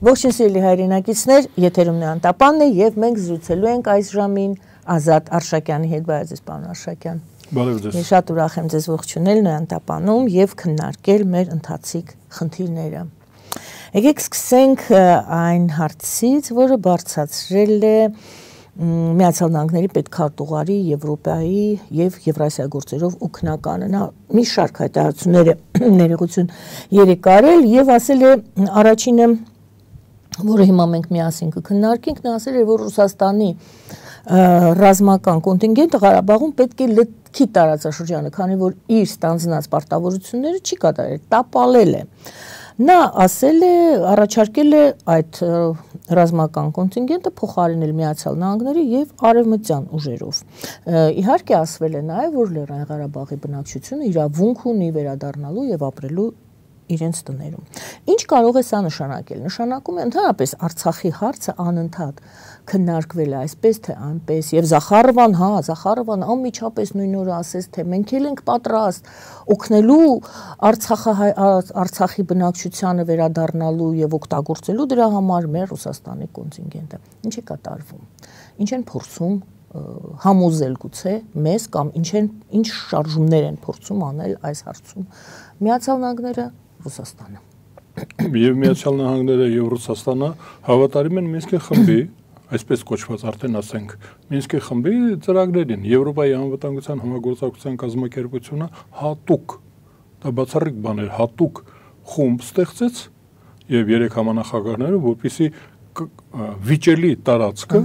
Ողջույն սիրելի հայրենակիցներ, եթերում Անտապանն է եւ մենք զրուցելու ենք այս ժամին Ազատ Արշակյանի հետ, բարև պարոն Արշակյան։ Բարև ձեզ։ Ես շատ ուրախ եմ ձեզ ողջունել Անտապանում եւ քննարկել մեր ընթացիկ խնդիրները։ Եկեք սկսենք այն հարցից, որը բարձրացրել է Միացյալ Նահանգների պետքարտուղարի Եվրոպայի եւ Եվրասիա գործերով օգնականը։ Նա մի շարք հայտարարություններ ներողություն երեք արել եւ ասել է առաջինը, որը հիմա մենք միասին կքննարկենք, նա ասել է, որ Ռուսաստանի ռազմական կոնտինգենտը Ղարաբաղում պետք է լքի տարածաշրջանը, քանի որ իր ստանձնած պարտավորությունները չի կատարել, տապալել է։ Նա ասել է, առաջարկել է այդ ռազմական կոնտինգենտը փոխարինել Միացյալ Նահանգների եւ արևմտյան ուժերով։ Իհարկե ասվել է նաեւ, որ Լեռնային Ղարաբաղի բնակչությունը իրավունք ունի վերադառնալու եւ ապրելու իրենց տներում։ Ինչ կարող է սա նշանակել։ Նշանակում է ընդհանրապես Արցախի հարցը անընդհատ քննարկվել է այսպես թե այնպես եւ Զախարովան անմիջապես նույն օրը ասեց, թե մենք էլ ենք պատրաստ օգնելու Արցախի բնակչությանը վերադառնալու եւ օգտագործելու դրա համար մեր Ռուսաստանի կոնտինգենտը։ Ինչ է կատարվում։ Ինչ են փորձում համոզել գուցե մեզ կամ ինչ շարժումներ են փորձում անել այս հարցում Միացյալ Նահանգները, Ռուսաստանը։ Եվ Միացյալ Նահանգները եւ Ռուսաստանը հավատարիմ են Մինսկի խմբի, այսպես կոչված արդեն ասենք, Մինսկի խմբի ծրագրերին։ Եվրոպայի անվտանգության համագործակցության կազմակերպությունը հատուկ, դա բացառիկ բան էր, հատուկ խումբ ստեղծեց եւ 3 համանախագահները, որպեսզի վիճելի տարածքը,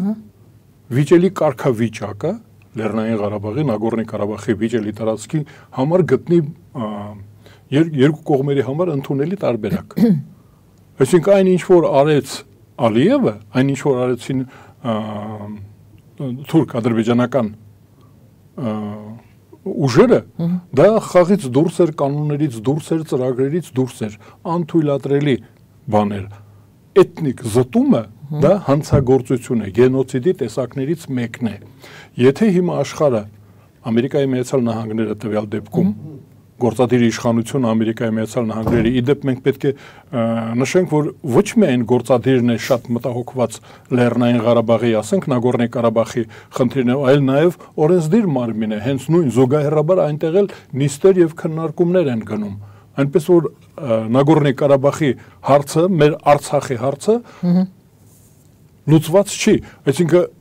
վիճելի կարգավիճակը Լեռնային Ղարաբաղի, Նագորնի Ղարաբաղի վիճելի տարածքի համար գտնի երկու կողմերի համար ընդունելի տարբերակ։ Այսինքն այն ինչ որ արեց Ալիևը, այն ինչ որ արեցին թուրք-ադրբեջանական ուժերը, դա խաղից դուրս էր, կանոններից դուրս էր, ծրագրերից դուրս էր, անթույլատրելի բաներ։ Էթնիկ զտումը դա հանցագործություն է, գենոցիդի տեսակներից մեկն է։ Եթե հիմա աշխարհը Ամերիկայի Միացյալ Նահանգները տվյալ դեպքում գործադիր իշխանությունը Ամերիկայի Միացյալ Նահանգների, իդեպ մենք պետք է նշենք, որ ոչ միայն գործադիրն է շատ մտահոգված Լեռնային Ղարաբաղի, ասենք Նագորնի Ղարաբաղի խնդիրներով, այլ նաև օրենսդիր մարմին է, հենց նույն զուգահեռաբար այնտեղ էլ նիստեր եւ քննարկումներ են գնում։ Այնպես որ Նագորնի Ղարաբաղի հարցը, մեր Արցախի հարցը լուծված չի, այսինքն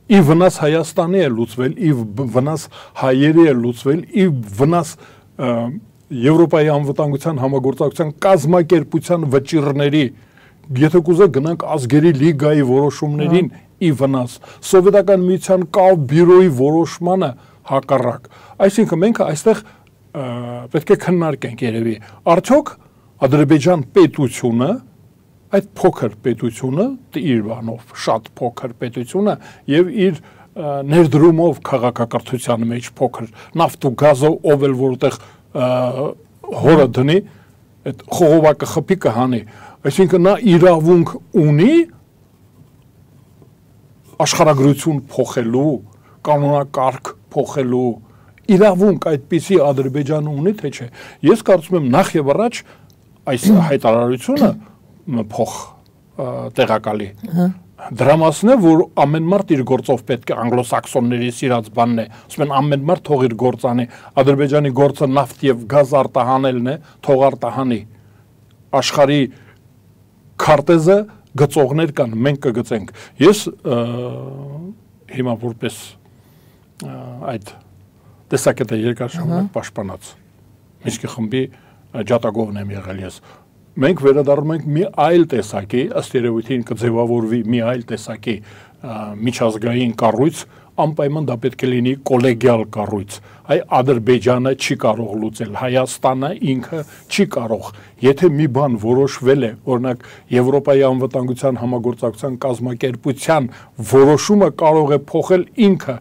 ի վնաս Հայաստանի է լուծվել, ի վնաս հայերի է լուծվել, ի վնաս Եվրոպայի անվտանգության համագործակցության կազմակերպության վճիռների, եթե կուզեք գնանք ազգերի լիգայի որոշումներին ի վնաս, Սովետական միության կավ բյուրոյի որոշմանը հակառակ։ Այսինքն մենք այստեղ պետք է քննարկենք երևի, արդյոք Ադրբեջան պետությունը, այդ փոքր պետությունը, իր բանով շատ փոքր պետությունը եւ իր ներդրումով քաղաքակրթության մեջ փոքր նավթ ու գազով ով էլ որտեղ հորը դնի, այդ խողովակը խփի կհանի, այսինքն նա իրավունք ունի աշխարհագրություն փոխելու, կանոնակարգ փոխելու իրավունք այդպիսի Ադրբեջանը ունի թե չէ։ Ես կարծում եմ նախ եւ առաջ այս հայտարարությունը փոխ տեղակալի դրա մասն է, որ ամեն մարդ իր գործով պետք է անգլոսաքսոնների սիրած բանն է, ասում են ամեն մարդ թող իր գործ անի, Ադրբեջանի գործը նավթ եւ գազ արտահանելն է, թող արտահանի։ Աշխարհի քարտեզը գծողներ կան, մենք կգծենք։ Ես հիմա որպես այդ տեսակետը երկար ժամանակ պաշտպանած Մինսկի խմբի ջատագովն եմ եղել ես։ Մենք վերադառնում ենք մի այլ տեսակի, ըստ երևույթին կձևավորվի մի այլ տեսակի միջազգային կառույց, անպայման դա պետք է լինի կոլեգիալ կառույց։ Այ Ադրբեջանը չի կարող լուծել, Հայաստանը ինքը չի կարող։ Եթե մի բան որոշվել է, օրինակ Եվրոպայի անվտանգության համագործակցության կազմակերպության որոշումը կարող է փոխել ինքը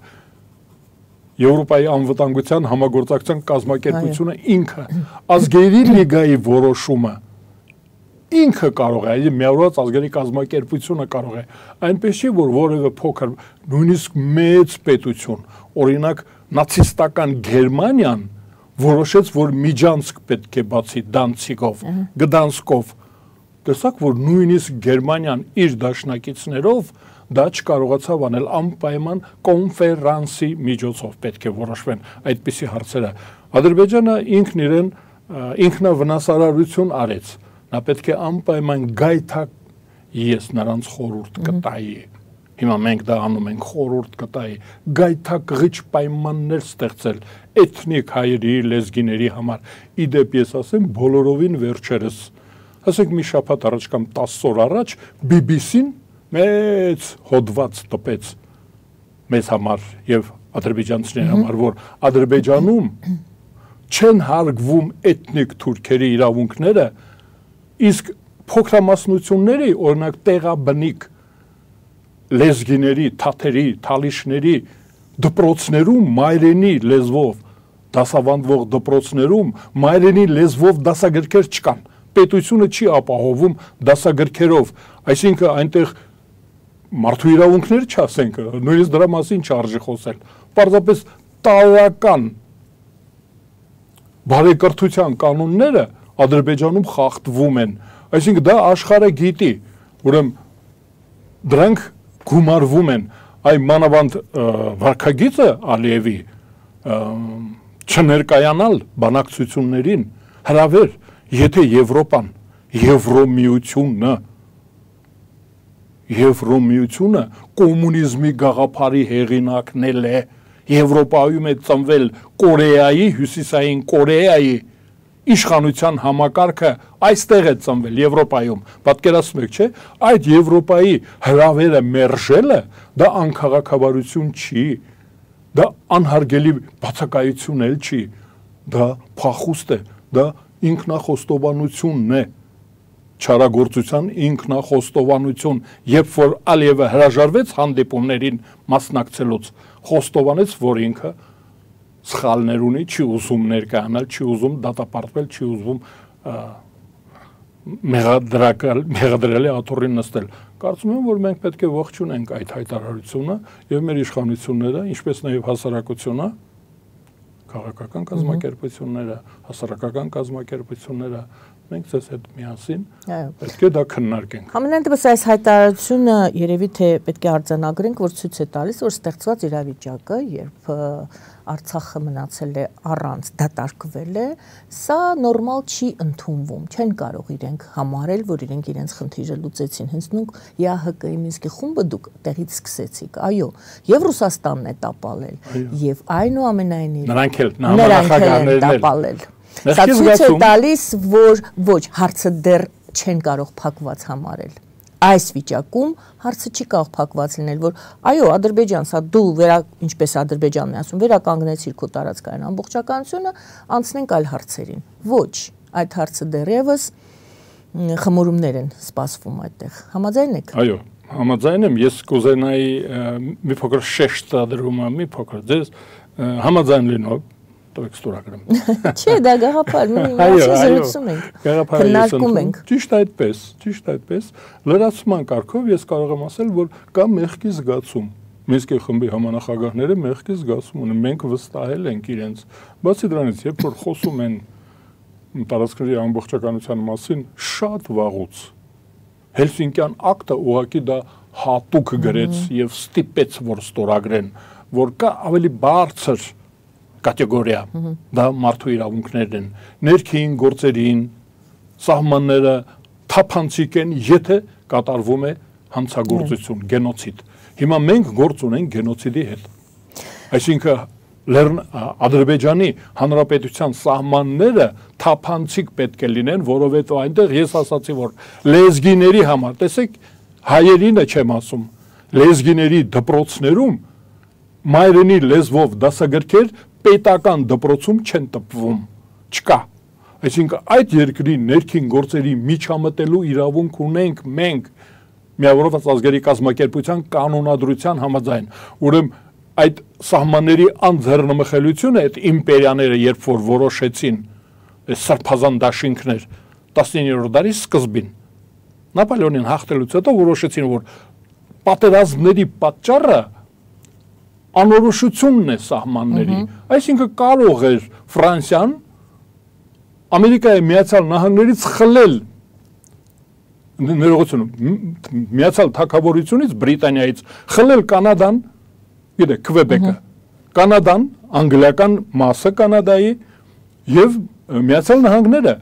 Եվրոպայի անվտանգության համագործակցության կազմակերպությունը ինքը, ազգերի լիգայի որոշումը ինքը կարող է, միավորված ազգերի կազմակերպությունը կարող է, այնպես չի, որ որևէ փոքր, նույնիսկ մեծ պետություն, օրինակ նացիստական Գերմանիան որոշեց, որ Միջանցք պետք է բացի Դանցիգով, Գդանսկով, տեսակ, որ նույնիսկ Գերմանիան իր դաշնակիցներով դա չկարողացավ անել անպայման կոնֆերանսի միջոցով պետք է որոշվեն այդպիսի հարցերը։ Ադրբեջանը ինքն իրեն ինքնավնասարարություն արեց։ Նա պետք է անպայման գայթակ ես նրանց խորհուրդ կտայի։ Հիմա մենք դա անում ենք խորհուրդ կտայի գայթակղիչ պայմաններ ստեղծել էթնիկ հայերի լեզգիների համար։ Իդեպ ես ասեմ բոլորովին վերջերս, ասենք մի շաբաթ առաջ կամ 10 օր առաջ BBC-ն մեծ հոդված տպեց մեզ համար եւ ադրբեջանցիների համար, որ Ադրբեջանում չեն հարգվում էթնիկ թուրքերի իրավունքները, իսկ փոքրամասնությունների, օրինակ տեղաբնիկ լեզգիների, թաթերի, թալիշների դպրոցներում մայրենի լեզվով դասավանդվող դպրոցներում մայրենի լեզվով դասագրքեր չկան։ Պետությունը չի ապահովում դասագրքերով, այսինքն այնտեղ մարդու իրավունքներ չասենք, նույնիսկ դրա մասին չարժի խոսել։ Պարզապես տարական բարեկրթության կանոնները Ադրբեջանում խախտվում են։ Այսինքն դա աշխարհը գիտի, ուրեմն դրանք գումարվում են, այ մանավանդ վարքագիծը Ալիևի չներկայանալ բանակցություններին հրավեր, եթե Եվրոպան, Եվրոմիությունը կոմունիզմի գաղափարի հեղինակն է, Եվրոպայում է ծնվել Կորեայի, Հյուսիսային Կորեայի իշխանության համակարգը այստեղ է ծնվել Եվրոպայում, պատկերացնում եք, չէ՞, այդ Եվրոպայի հրավերը մերժելը դա անքաղաքավարություն չի, դա անհարգելի բացակայություն էլ չի, դա փախուստ է, դա ինքնախոստովանությունն է, չարագործության ինքնախոստովանություն, երբ որ Ալիևը հրաժարվեց հանդիպումներին մասնակցելուց, խոստովանեց, որ ինքը սխալներ ունի, չի ուզում ներկայանալ, չի ուզում դատապարտվել, չի ուզում մեղադրելի աթոռին նստել։ Կարծում եմ, որ մենք պետք է ողջունենք այդ հայտարարությունը եւ մեր իշխանությունները, ինչպես նաեւ հասարակությունը, քաղաքական կազմակերպությունները, հասարակական կազմակերպությունները, մենք ցես հետ միասին պետք է դա քննարկենք։ Համենայն դեպս այս հայտարարությունը երևի թե պետք է արձանագրենք, որ ցույց է տալիս, որ ստեղծված իրավիճակը, երբ Արցախը մնացել է առանց, դատարկվել է, սա նորմալ չի ընդունվում, չեն կարող իրենք համարել, որ իրենք իրենց խնդիրը լուծեցին, հենց նույն ԵԱՀԿ-ի Մինսկի խումբը դուք տեղից սկսեցիք, այո, եւ Ռուսաստանն է տապալել, եւ այնուամենայնիվ նրանք էլ տապալել։ Սա ցույց է տալիս, որ ոչ, հարցը դեռ չեն կարող փակված համարել։ Այս վիճակում հարցը չի կարող փակված լինել, որ այո, Ադրբեջան, սա դու ինչպես Ադրբեջանն է ասում, վերականգնեցիր քո տարածքային ամբողջականությունը, անցնենք այլ հարցերին։ Ոչ, այդ հարցը դեռևս խմորումներ են սպասվում այդտեղ։ Համաձայն եք։ Այո, համաձայն եմ, ես կուզենայի մի փոքր շեշտ դրում, մի փոքր ձեզ համաձայն լինող տվեք ստորագրեմ։ Չէ, դա գաղափար, մի զրուցում ենք, քննարկում ենք։ Ճիշտ այդպես, լրացման կարգով ես կարող եմ ասել, որ կա մեղքի զգացում։ Մինսկի խմբի համանախագահները մեղքի զգացում ունեն, մենք վստահել ենք իրենց։ Բացի դրանից, երբ որ խոսում են տարածքների ամբողջականության մասին, շատ վաղուց Հելսինկյան ակտը ուղղակի դա հատուկ գրեց եւ ստիպեց, որ ստորագրեն, որ կա ավելի բարձր կատեգորիա, դա մարդու իրավունքներն են, ներքին գործերին, սահմանները թափանցիկ են, եթե կատարվում է հանցագործություն, գենոցիդ։ Հիմա մենք գործ ունենք գենոցիդի հետ։ Այսինքն Ադրբեջանի Հանրապետության սահմանները թափանցիկ պետք է լինեն, որովհետև այնտեղ ես ասացի, որ լեզգիների համար, տեսեք, հայերինը չեմ ասում, լեզգիների դպրոցներում մայրենի լեզվով դասագրքեր պետական դպրոցում չեն տպվում, չկա։ Այսինքն այդ երկրի ներքին գործերի միջամտելու իրավունք ունենք մենք Միավորված ազգերի կազմակերպության կանոնադրության համաձայն։ Ուրեմն այդ սահմանների անձեռնմխելիությունը այդ իմպերիաները երբ որ որոշեցին սրբազան դաշինքներ 19-րդ դարի սկզբին Նապոլեոնին հաղթելուց հետո որոշեցին, որ պատերազմների պատճառը անորոշությունն է սահմանների, այսինքն կարող էր Ֆրանսիան Ամերիկայի Միացյալ Նահանգներից խլել ներողություն, Միացյալ Թագավորությունից Բրիտանիայից խլել Կանադան, գիտեք, Քվեբեկը, Կանադան, անգլիական մասը Կանադայի եւ Միացյալ Նահանգները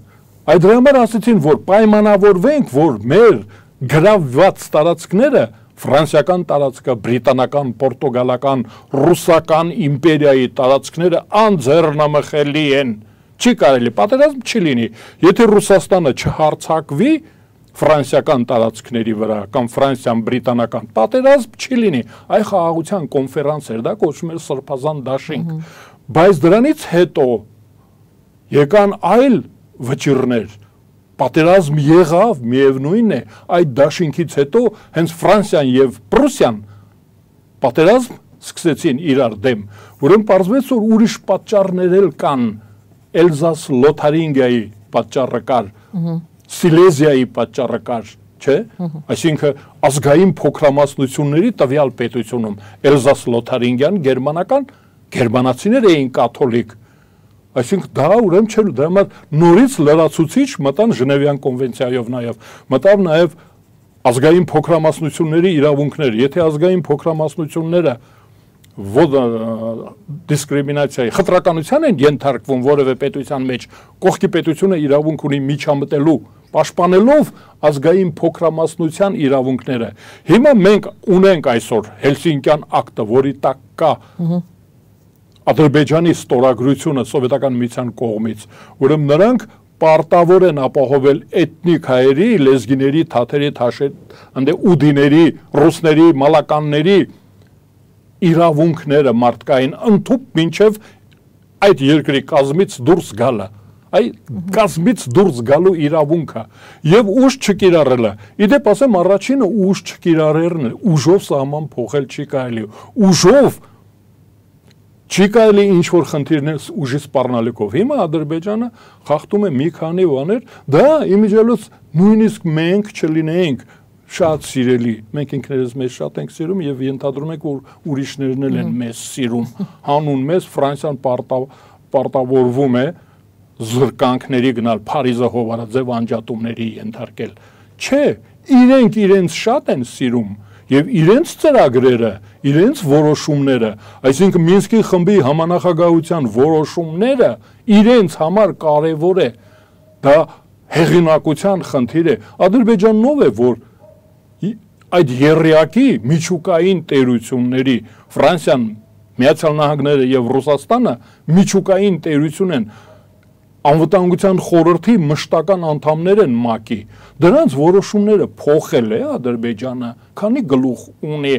այդ դրա համար ասեցին, որ պայմանավորվենք, որ մեր գրավված տարածքները ֆրանսիական տարածքը, բրիտանական, պորտուգալական, ռուսական իմպերիայի տարածքները անձեռնամխելի են։ Չի կարելի, պատերազմ չի լինի։ Եթե Ռուսաստանը չհարձակվի ֆրանսիական տարածքների վրա կամ ֆրանսիան բրիտանական, պատերազմ չի լինի։ Այ խաղաղության կոնֆերանս էր, դա կոչվում էր Սրբազան դաշինք։ Բայց դրանից հետո եկան այլ վճիռներ, պատերազմ եղավ, միևնույն է, այդ դաշինքից հետո հենց Ֆրանսիան եւ Պրուսիան պատերազմ սկսեցին իրար դեմ, ուրեմն պարզվեց, որ ուրիշ պատճառներ էլ կան, Էլզաս Լոթարինգիայի պատճառը կար, Սիլեզիայի պատճառը կար, չէ, այսինքն ազգային փոքրամասնությունների տվյալ պետությունում Էլզաս Լոթարինգիան գերմանական, գերմանացիներ էին կաթոլիկ. Այսինքն դա ուրեմն չէր, դրա համար նորից լրացուցիչ մտան Ժնևյան կոնվենցիայով նաև, մտավ նաև ազգային փոքրամասնությունների իրավունքներ, եթե ազգային փոքրամասնությունները դիսկրիմինացիայի, խտրականության են ենթարկվում որևէ պետության մեջ, կողքի պետությունը իրավունք ունի միջամտելու, պաշտպանելով ազգային փոքրամասնության իրավունքները։ Հիմա մենք ունենք այսօր Հելսինկյան ակտը, որի տակ կա Ադրբեջանի ստորագրությունը սովետական միության կողմից, ուրեմն նրանք պարտավոր են ապահովել էթնիկ հայերի, լեզգիների, թաթերի, ուդիների, ռուսների, մալականների իրավունքները մարդկային ընդհուպ մինչև այդ երկրի կազմից դուրս գալը, այդ կազմից դուրս գալու իրավունքը եւ ուժ չկիրառելը։ Իդեպ ասեմ, առաջինը ուժ չկիրառելն է, ուժով սահման փոխել չի կարելի, ուժով չի կարելի ինչ-որ խնդիրներ ուժի սպառնալիքով։ Հիմա Ադրբեջանը խախտում է մի քանի բաներ, դա իմիջիալոց նույնիսկ մենք չլինեինք շատ սիրելի, մենք ինքներս մեզ շատ ենք սիրում եւ ենթադրում ենք, որ ուրիշներն էլ են մեզ սիրում։ Հանուն մեզ Ֆրանսիան պարտավորվում է զրկանքների գնալ, Փարիզը հովանաձև անջատումների ենթարկել։ Չէ, իրենք իրենց շատ են սիրում եւ իրենց ծրագրերը, իրենց որոշումները, այսինքն Մինսկի խմբի համանախագահության որոշումները իրենց համար կարևոր է, դա հեղինակության խնդիր է։ Ադրբեջանն ով է, որ այդ եռյակի միջուկային տերությունների Ֆրանսիան, Միացյալ Նահանգները եւ Ռուսաստանը միջուկային տերություն են, անվտանգության խորհրդի մշտական անդամներ են ՄԱԿ-ի, դրանց որոշումները փոխել է Ադրբեջանը, քանի գլուխ ունի,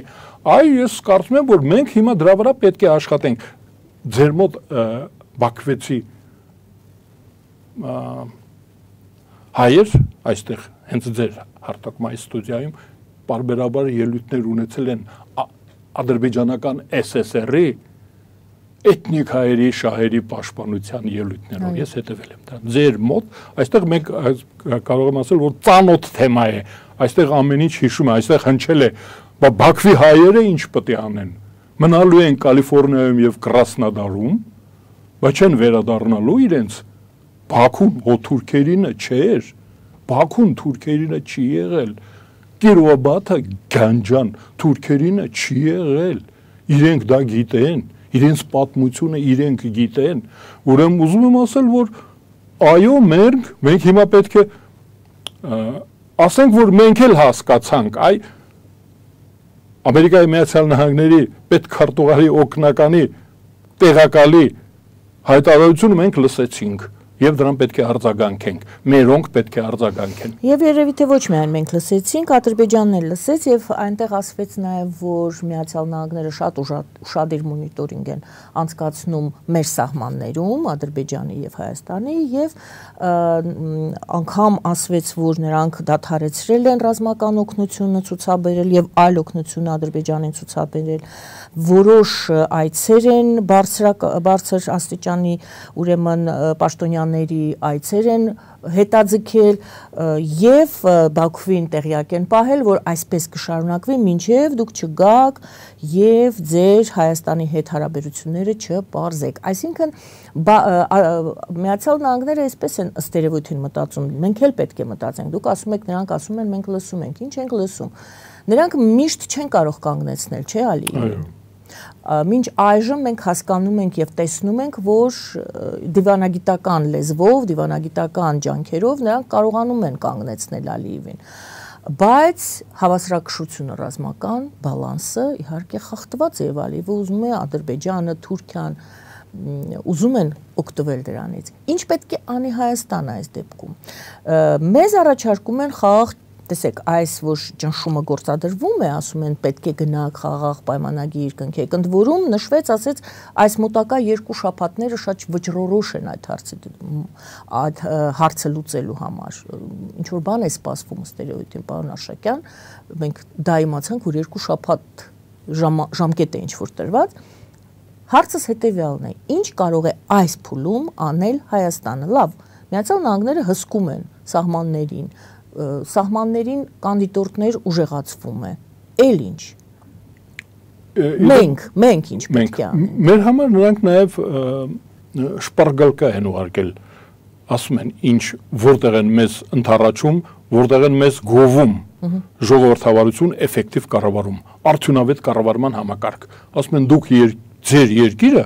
այ ես կարծում եմ, որ մենք հիմա դրա վրա պետք է աշխատենք։ Ձեր մոտ Բաքվեցի հայեր, այստեղ հենց ձեր հարտակմայի ստուդիայում պարբերաբար ելույթներ ունեցել են ադրբեջանական SSR-ի էթնիկ հայերի շահերի պաշտպանության ելույթներով, ես հետևել եմ դրան։ Ձեր մոտ, այստեղ մենք կարող եմ ասել, որ ծանոթ թեմա է, այստեղ ամեն ինչ հիշում է, այստեղ հնչել է, Բաքվի հայերը ինչ պետք է անեն, մնալու են Կալիֆոռնիայում եւ Կրասնոդարում, բայց չեն վերադառնալու իրենց Բաքուն թուրքերինը չէր, Բաքուն թուրքերինը չի եղել, Կիրովաբադը Գանջան թուրքերինը չի եղել, իրենք դա գիտեն, իրենց պատմությունը իրենք գիտեն, ուրեմն ուզում եմ ասել, որ այո, մենք հիմա պետք է ասենք, որ մենք էլ հասկացանք, այ Ամերիկայի Միացյալ Նահանգների պետքարտուղարի օգնականի տեղակալի հայտարարությունը մենք լսեցինք եւ դրան պետք է արձագանքենք, մերոնք պետք է արձագանքեն։ Եվ երևի թե ոչ միայն մենք լսեցինք, Ադրբեջանն էլ լսեց եւ այնտեղ ասվեց նաեւ, որ Միացյալ Նահանգները շատ ուշադիր մոնիտորինգ են անցկացնում մեր սահմաններում, Ադրբեջանի եւ Հայաստանի, եւ անգամ ասվեց, որ նրանք դադարեցրել են ռազմական օգնությունը ցուցաբերել եւ այլ օգնություն Ադրբեջանին ցուցաբերել, որոշ այցեր են բարձր աստիճանի ուրեմն պաշտոնյան Հայաստանների այցեր են հետաձգել եւ Բաքվին տեղյակ են պահել, որ այսպես կշարունակվի մինչեւ դուք չգաք եւ ձեր Հայաստանի հետ հարաբերությունները չպարզեք։ Այսինքն Միացյալ Նահանգները այսպես են ըստ երևույթին մտածում, մենք էլ պետք է մտածենք։ Դուք ասում եք, նրանք ասում են, մենք լսում ենք, ինչ ենք լսում։ Նրանք միշտ չեն կարող կանգնեցնել, չէ՞ Ալիև։ Մինչ այժմ մենք հասկանում ենք եւ տեսնում ենք, որ դիվանագիտական լեզվով, դիվանագիտական ջանքերով նրանք կարողանում են կանգնեցնել Ալիևին։ Բայց հավասարակշռությունը ռազմական բալանսը իհարկե խախտված է եւ Ալիևը ուզում է Ադրբեջանը, Թուրքիան ուզում են օգտվել դրանից։ Ինչ պետք է անի Հայաստանը այս դեպքում։ Մեզ առաջարկում են խաղաղ տեսեք, այս որ ճնշումը գործադրվում է, ասում են պետք է գնաք խաղաղ պայմանագիր կնքեք, ընդ որում նշվեց, ասեց, այս մոտակա 2 շաբաթները շատ վճռորոշ են այդ հարցը լուծելու համար։ Ինչ որ բան է սպասվում ըստ երևույթին, պարոն Աշակյան, մենք դա իմացանք, որ 2 շաբաթ ժամկետ է ինչ որ տրված։ Հարցս հետևյալն է. ինչ կարող է այս փուլում անել Հայաստանը։ Լավ, Միացյալ Նահանգները հսկում են սահմաններին կանդիդորտներ ուժեղացվում է։ Էլ ինչ։ Մենք ինչ պետք է անենք։ Մեր համար նրանք նաև շպարգալկա են ուղարկել, ասում են, ինչ որտեղ են մեզ ընդառաջում, որտեղ են մեզ գովում ժողովրդավարություն էֆեկտիվ կառավարում, արդյունավետ կառավարման համակարգ։ Ասում են դուք ձեր երկիրը,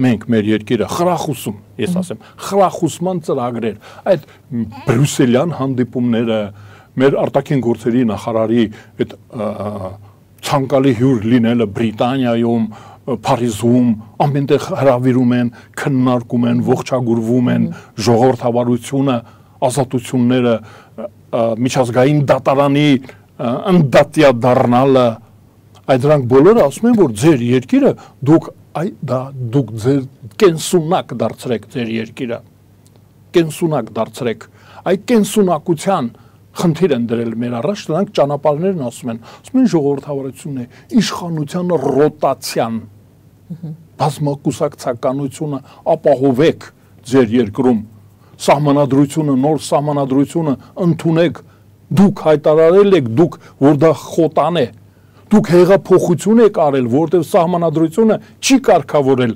մենք մեր երկիրը խրախուսում, ես ասեմ, խրախուսման ծրագրեր, այդ բրյուսելյան հանդիպումները, մեր արտաքին գործերի նախարարի այդ ցանկալի հյուր լինելը Բրիտանիայում, Փարիզում, ամենտեղ հրավիրում են, քննարկում են, ողջագուրվում են ժողովրդավարությունը, ազատությունները, միջազգային դատարանի ընդդատյա դառնալը, այդ դրանք բոլորը ասում են, որ ձեր երկիրը դուք ձեր կենսունակ դարձրեք ձեր երկիրը, կենսունակ դարձրեք, այդ կենսունակության խնդիր են դրել մեր առաջ, դրանք ճանապարհներն ասում են ժողովրդավարությունն է, իշխանության ռոտացիան, բազմակուսակցականությունը ապահովեք ձեր երկրում, սահմանադրությունը, նոր սահմանադրությունը ընդունեք, դուք հայտարարել եք, դուք որ դա խոտան է, դուք հեղափոխություն եք արել, որտեղ սահմանադրությունը չի կարգավորել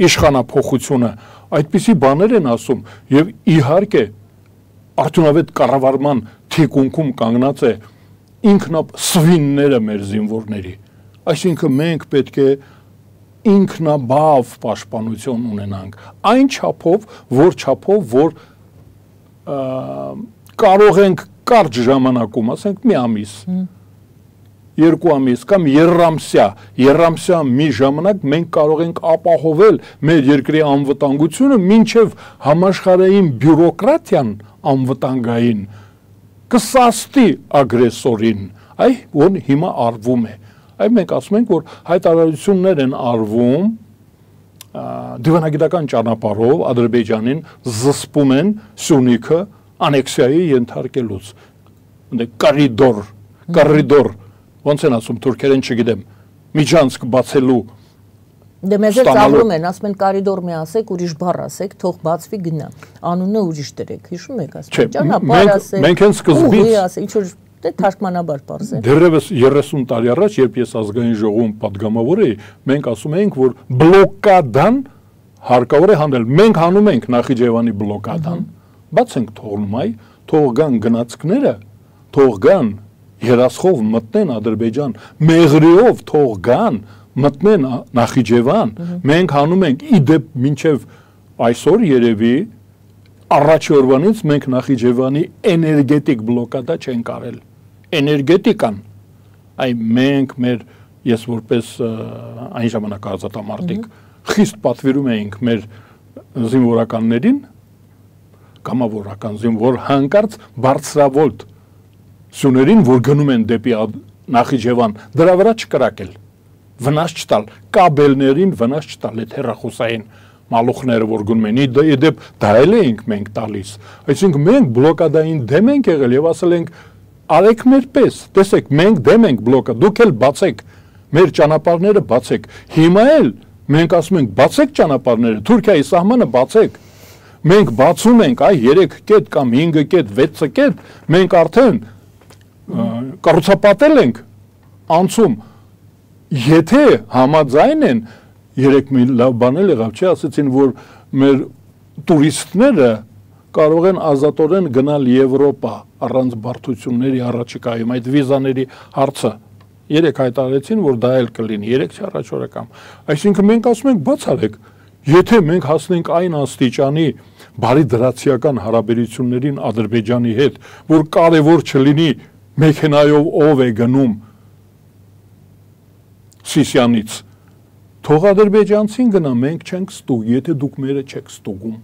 իշխանափոխությունը, այդպիսի բաներ են ասում եւ իհարկե արդյունավետ կառավարման թիկունքում կանգնած է ինքնասվինները մեր զինվորների, այսինքն մենք պետք է ինքնաբավ պաշտպանություն ունենանք, այն չափով, որ կարող ենք կարճ ժամանակում, ասենք մի ամիս, 2 ամիս կամ երամսյա մի ժամանակ մենք կարող ենք ապահովել մեր երկրի անվտանգությունը, մինչև համաշխարհային բյուրոկրատիան անվտանգային կսաստի ագրեսորին, որ հիմա արվում է։ Այ մենք ասում ենք, որ հայտարարություններ են արվում դիվանագիտական ճանապարհով Ադրբեջանին զսպում են Սյունիքը անեքսիայի ենթարկելուց։ Կորիդոր ոնց են ասում թուրքերեն չգիտեմ, միջանցք բացելու Դե մեզ էլ ծաղրում են, ասում են կարիդոր մի ասեք, ուրիշ բառ ասեք, թող բացվի գնա, անունը ուրիշ դրեք, հիշում եք ասում, ճանապարհ ասեք, մենք հենց սկզբից ինչ որ դե թարգմանաբար բարձր։ Դեռևս 30 տարի առաջ, երբ ես ազգային ժողովում падգամավոր էի, մենք ասում էինք, որ բլոկադան հարկավոր է հանել։ Մենք հանում ենք Նախիջևանի բլոկադան, բաց ենք թողնում, թող գան գնացքները, թող գան երասխով մտնեն Ադրբեջան, մեղրիով թող գան մտնեն Նախիջևան, մենք հանում ենք իդեպ մինչև այսօր երևի առաջի օրվանից մենք Նախիջևանի էներգետիկ բլոկադա չենք արել, էներգետիկան, մենք ես որպես այն ժամանակ ազատամարտիկ խիստ պատվիրում էինք մեր զինվորականներին, կամավորական զինվոր հանկարծ բարձրավոլտ սյուներին, որ գնում են դեպի Նախիջևան, դրա վրա չկրակել, վնաս չտալ, կաբելներին վնաս չտալ, այդ հեռախոսային մալուխները, որ գնում են, իդեպ դա էլ էինք մենք տալիս, այսինքն մենք բլոկադային դեմ ենք եղել եւ ասել ենք, արեք մեր պես, տեսեք, մենք դեմ ենք բլոկա, դուք էլ բացեք, մեր ճանապարհները բացեք, հիմա էլ մենք ասում ենք, բացեք ճանապարհները, Թուրքիայի սահմանը բացեք, մենք բացում ենք այ 3 կետ կամ 5 կետ, 6 կետ, մենք արդեն կառուցապատել ենք անցում, եթե համաձայն են, 3 մի լավ բան եղավ, չէ, ասեցին, որ մեր տուրիստները կարող են ազատորեն գնալ Եվրոպա առանց բարդությունների առաջիկայում, այդ վիզաների հարցը 3 հայտարարեցին, որ դա էլ կլինի, 3 չառաջորդ կամ, այսինքն մենք ասում ենք բաց արեք, եթե մենք հասնենք այն աստիճանի բարի դրացիական հարաբերություններին Ադրբեջանի հետ, որ կարևոր չլինի մեքենայով ով է գնում Սիսյանից, թող ադրբեջանցին գնա, մենք չենք ստուգ, եթե դուք մերը չեք ստուգում,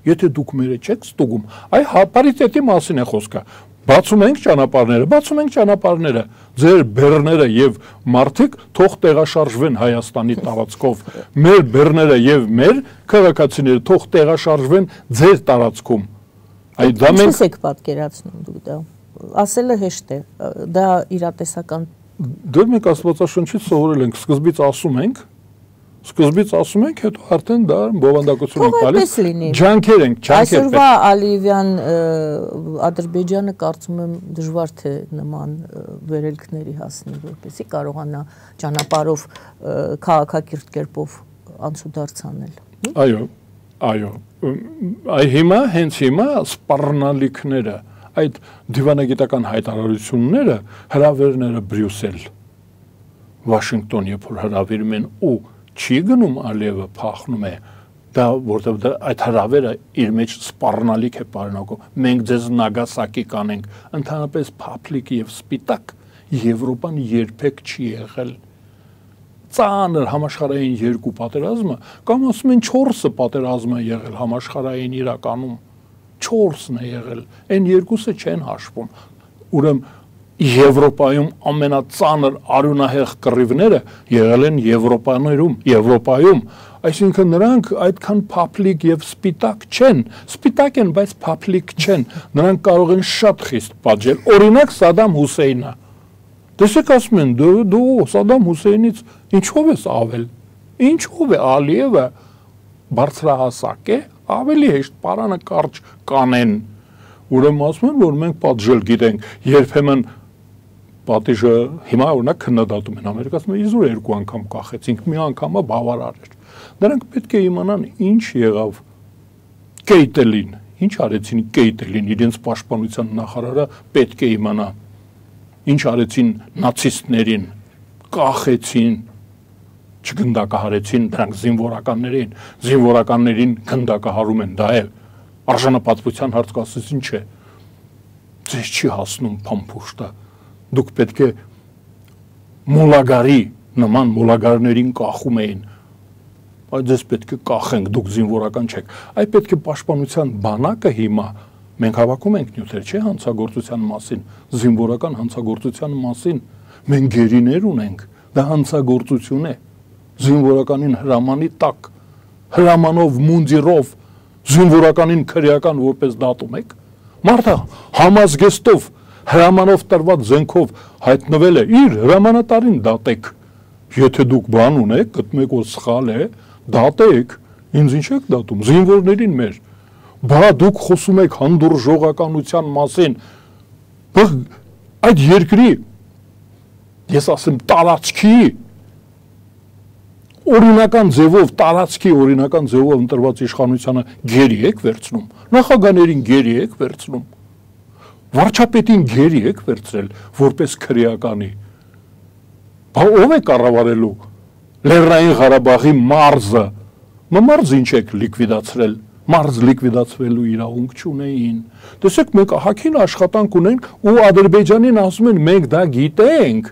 եթե դուք մերը չեք ստուգում, այ պարիտետի մասին է խոսքը, բացում ենք ճանապարհները, ձեր բեռները եւ մարդիկ թող տեղաշարժվեն Հայաստանի տարածքով, մեր բեռները եւ մեր քաղաքացիները թող տեղաշարժվեն ձեր տարածքում, այ դա մենք Ինչպես եք պատկերացնում դուք դա, ասելը հեշտ է, դա իրատեսական Դեռ մենք Աստվածաշնչից սովորել ենք, սկզբից ասում ենք, հետո արդեն դա բովանդակություն ենք տալիս, ջանքեր ենք, Այսօրվա Ալիևյան Ադրբեջանը կարծում եմ դժվար թե նման վերելքների հասնի, որպեսզի կարողանա ճանապարհով քաղաքակիրթ կերպով անցուդարձ անել։ Այո, հենց հիմա սպառնալիքները այդ դիվանագիտական հայտարարությունները, հրավերները Բրյուսել, Վաշինգտոն, երբ որ հրավիրում են ու չի գնում Ալիևը փախնում է, դա որտեղ այդ հրավերը իր մեջ սպառնալիք է պարունակում, մենք ձեզ Նագասակի կանենք, ընդհանրապես փափլիկ եւ սպիտակ Եվրոպան երբեք չի եղել։ Ծանր համաշխարհային 2 պատերազմը, կամ ասում են 4 պատերազմը եղել համաշխարհային իրականում 4-ն է եղել, այն 2-ը չեն հաշվում, ուրեմն Եվրոպայում ամենածանր արյունահեղ կռիվները եղել են Եվրոպայում, այսինքն նրանք այդքան փափլիկ եւ սպիտակ չեն, սպիտակ են, բայց փափլիկ չեն, նրանք կարող են շատ խիստ պատժել, օրինակ Սադամ Հուսեյնը, տեսեք ասում են, դու Սադամ Հուսեյնից ինչով ես ավել, ինչով է Ալիևը բարձրահասակ է, ավելի հեշտ պարանը կարճ կանեն, ուրեմն ասում են, որ մենք պատժել գիտենք, երբեմն պատիժը հիմա օրինակ քննադատում են Ամերիկացում, իզուր 2 անգամ կախեցինք, մի անգամը բավարար էր, նրանք պետք է իմանան ինչ եղավ Կեյտելին, ինչ արեցին Կեյտելին, իրենց պաշտպանության նախարարը պետք է իմանա, ինչ արեցին նացիստներին, կախեցին, չգնդակահարեցին դրանք զինվորականներին գնդակահարում են, դա է արժանապատվության հարց կասեցին չէ, ձեզ չի հասնում փամփուշտը, դուք պետք է մոլագարի նման մոլագարներին կախում էին, այդ ձեզ պետք է կախենք, դուք զինվորական չեք, այ պետք է պաշտպանության բանակը հիմա, մենք հավաքում ենք նյութեր, չէ, հանցագործության մասին, զինվորական հանցագործության մասին, մենք գերիներ ունենք, դա հանցագործություն է, զինվորականին հրամանի տակ, հրամանով, մունդիրով, զինվորականին քրեական որպես դատում եք, մարդը համազգեստով, հրամանով տրված զենքով հայտնվել է, իր հրամանատարին դատեք, եթե դուք բան ունեք, գտնում եք, որ սխալ է, դատեք, ինձ ինչ եք դատում, զինվորներին մեր, բա դուք խոսում եք հանդուրժողականության մասին, այդ երկրի, ես ասեմ տարածքի, օրինական ձևով, տարածքի օրինական ձևով ընտրված իշխանությանը գերի եք վերցնում, նախագաներին գերի եք վերցնում, վարչապետին գերի եք վերցրել, որպես քրեականի, բա ով է կառավարելու Լեռնային Ղարաբաղի մարզը, մարզ ինչ եք լիկվիդացրել, մարզ լիկվիդացվելու իրավունք չունեին, տեսեք մենք ահագին աշխատանք ունենք ու Ադրբեջանին ասում են մենք դա գիտենք,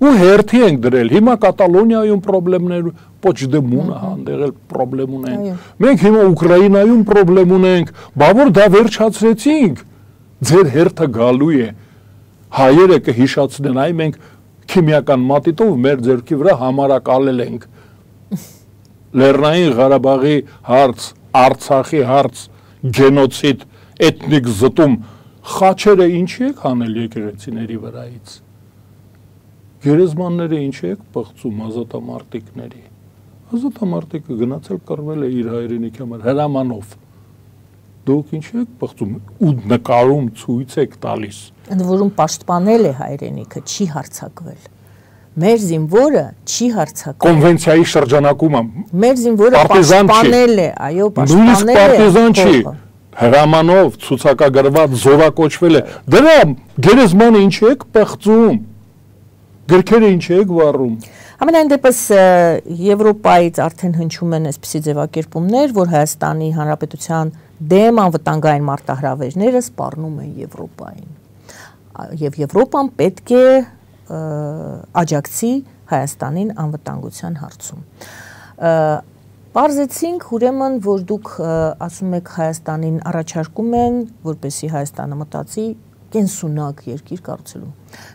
ու հերթի ենք դրել, հիմա Կատալոնիայում պրոբլեմներ, Պոչդեմոնը հանդեղել պրոբլեմ ունենք, մենք հիմա Ուկրաինայում պրոբլեմ ունենք, բա որ դա վերջացրեցինք, ձեր հերթը գալու է, հայերը կհիշացնեն, այ մենք քիմիական մատիտով մեր ձեռքի վրա համարակալել ենք, Լեռնային Ղարաբաղի հարց, Արցախի հարց, գենոցիդ, էթնիկ զտում, խաչերը ինչի եք հանել եկեղեցիների վրայից, գերեզմանները ինչի եք պղծում ազատամարտիկների, ազատամարտիկը գնացել կռվել է իր հայրենիքի համար, հրամանով, դուք ինչ եք բղծում ու նկարում ցույց եք տալիս։ Ընդ որում պաշտպանել է հայրենիքը, չի հարձակվել։ Մեր զինվորը չի հարձակվել։ Կոնվենցիայի շրջանակում մեր զինվորը պաշտպանել է, այո, պաշտպանել է։ Պարտիզան չի, հրամանով ցուցակագրված զորակոչվել է։ Դրա գերեզմանը ինչ եք բղծում։ Գրքերը ինչ եք վառում։ Ամենայն դեպս Եվրոպայից արդեն հնչում են այսպիսի ձևակերպումներ, որ Հայաստանի Հանրապետության դեմ անվտանգային մարտահրավերները սպառնում են Եվրոպային։ Եվ Եվրոպան պետք է աջակցի Հայաստանին անվտանգության հարցում։ Պարզեցինք ուրեմն, որ դուք ասում եք Հայաստանին առաջարկում են, որպեսզի Հայաստանը մտածի կենսունակ երկիր կառուցելու։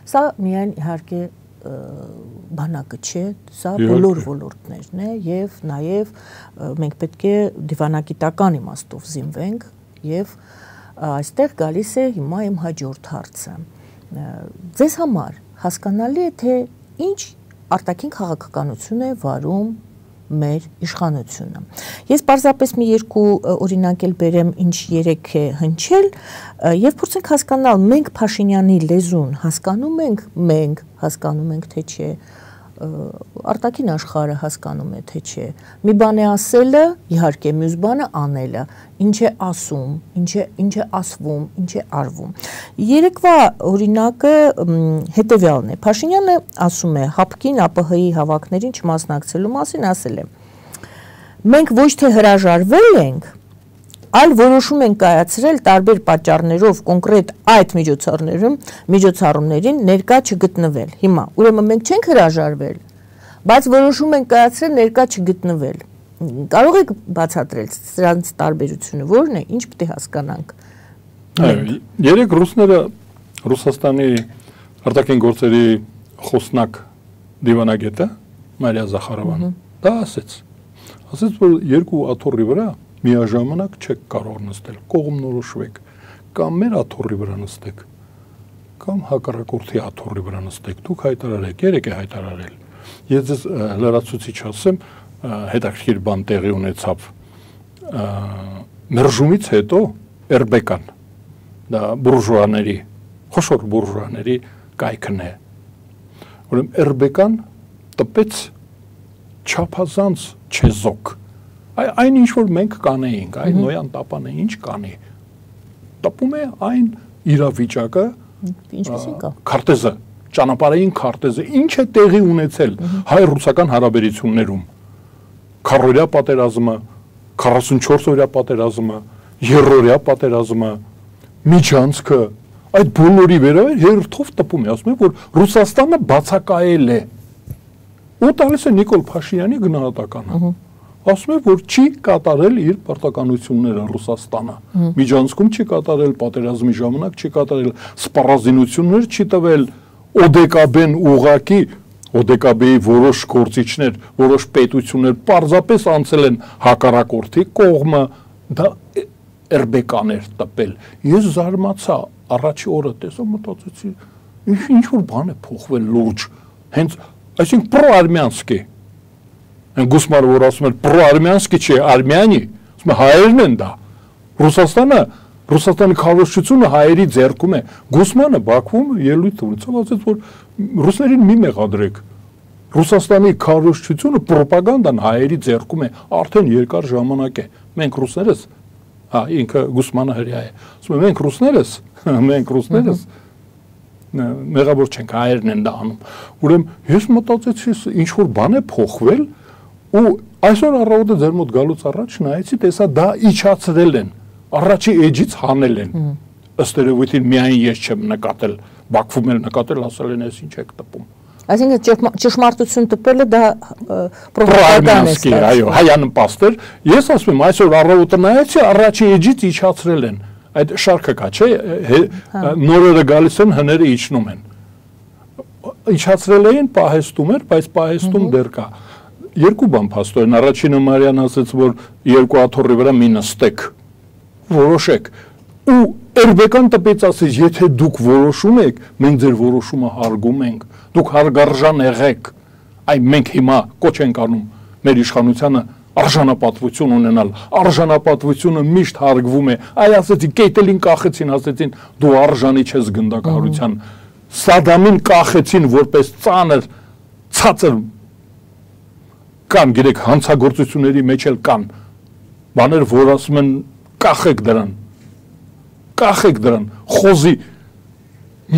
Սա միայն իհարկե բանակը չէ, սա բոլոր ոլորտներն է եւ նաեւ մենք պետք է դիվանագիտական իմաստով զինվենք եւ այստեղ գալիս է հիմա իմ հաջորդ հարցը։ Ձեզ համար հասկանալի է թե ինչ արտաքին քաղաքականություն է վարում մեր իշխանությունը։ Ես պարզապես մի երկու օրինակ էլ բերեմ, ինչ երեք է հնչել եւ փորձենք հասկանալ մենք Փաշինյանի լեզուն հասկանում ենք, մենք հասկանում ենք թե չէ, արտաքին աշխարհը հասկանում է թե չէ։ Մի բան է ասելը, իհարկե մյուս բանը անելը, ինչ է ասում, ինչ է ասվում, ինչ է արվում։ Երեկվա օրինակը հետեւյալն է։ Փաշինյանը ասում է ՀԱՊԿ-ին ԱՊՀ-ի հավաքներին չմասնակցելու մասին, ասել է. մենք ոչ թե հրաժարվել ենք, այլ որոշում ենք կայացրել տարբեր պատճառներով կոնկրետ այդ միջոցառումներին ներկա չգտնվել։ Հիմա, ուրեմն մենք չենք հրաժարվել, բայց որոշում ենք կայացրել ներկա չգտնվել։ Կարող եք բացատրել սրանց տարբերությունը ո՞րն է, ինչ պետք է հասկանանք։ Երեք ռուսները Ռուսաստանի արտաքին գործերի խոսնակ դիվանագետը Մարիա Զախարովան դա ասեց, որ երկու աթոռի վրա միաժամանակ չեք կարող նստել, կողմնորոշվեք, կամ մեր աթոռի վրա նստեք, կամ հակառակորդի աթոռի վրա նստեք, դուք հայտարարեք, երեք է հայտարարել։ Ես ձեզ լրացուցիչ ասեմ, հետաքրքիր բան տեղի ունեցավ մերժումից հետո Էրբեկան, դա բուրժուաների, խոշոր բուրժուաների կայքն է։ Ուրեմն Էրբեկան տպեց չափազանց չեզոք։ Այն ինչ որ մենք կանեինք, այն նոյան տապանը ինչ կանի։ Տպում է այն իրավիճակը, ինչպեսին կա։ Քարտեզը, ճանապարհային քարտեզը, ինչ է տեղի ունեցել հայ-ռուսական հարաբերություններում։ Քառօրյա պատերազմը, 44-օրյա պատերազմը, երրորդյա պատերազմը, միջանցքը, այդ բոլորի վերաբերյալ հերթով տպում է, ասում է, որ Ռուսաստանը բացակայել է։ Ու տալիս է Նիկոլ Փաշինյանի գնահատականը։ Ասում է, որ չի կատարել իր պարտականությունները Ռուսաստանը։ Միջանցքում չի կատարել, պատերազմի ժամանակ չի կատարել, սպառազինություններ չի տվել, ՕԴԿԲ-ն ուղղակի ՕԴԿԲ-ի որոշ գործիչներ, որոշ պետություններ պարզապես անցել են հակառակորդի կողմը, դա Էրբեկան էր տպել։ Ես զարմացա, առաջի օրը տեսա, մտածեցի, ինչ որ բան է փոխվել լուրջ, հենց, այսինքն պրոարմյանսկի։ Այն Գուսմանը, որ ասում էր պրոարմյանսկի չէ, արմյանի, ասում է հայերն են դա։ Ռուսաստանի քարոզչությունը հայերի ձեռքում է։ Գուսմանը Բաքվում ելույթ ունեցավ, ասաց, որ ռուսներին մի մեղադրեք։ Ռուսաստանի քարոզչությունը պրոպագանդան հայերի ձեռքում է, արդեն երկար ժամանակ է։ Մենք ռուսներս, ինքը Գուսմանը հրյա է։ Ասում է մենք ռուսներս մեղավոր չենք, հայերն են դա անում։ Ուրեմն ես մտածեցի, ինչ որ բան է փոխվել ու այսօր առավոտը ձեր մոտ գալուց առաջ նայեցի, տեսա դա իջացրել են, առաջի էջից հանել են։ Ըստ երևույթին միայն ես չեմ նկատել, Բաքվում էլ նկատել, ասել են, ես ինչ եք տպում։ Այսինքն ճշմարտություն տպելը դա պրոպագանդա է, այո, հայանպաստ էր։ Ես ասում եմ, այսօր առավոտը նայեցի, առաջի էջից իջացրել են։ Այդ շարքը կա, չէ՞, նորերը գալիս են, հները իջնում են։ Իջացրել էին, պահեստում էր, բայց պահեստում դեռ կա։ Երկու բան փաստորեն, առաջինը Մարիան ասաց, որ երկու աթոռի վրա մի նստեք, որոշեք։ Ու Էրբեկան տպեց ասեց, եթե դուք որոշում եք, մենք ձեր որոշումը հարգում ենք, դուք հարգարժան եղեք, այ մենք հիմա կոչ ենք անում մեր իշխանությանը արժանապատվություն ունենալ, արժանապատվությունը միշտ հարգվում է, այ ասեցի կետելին կախեցին, ասեցին դու արժանի չես գնդակահարության, Սադամին կախեցին որպես ծանր, ցածր կան, գիտեք, հանցագործությունների մեջ էլ կան բաներ, որ ասում են կախեք դրան, խոզի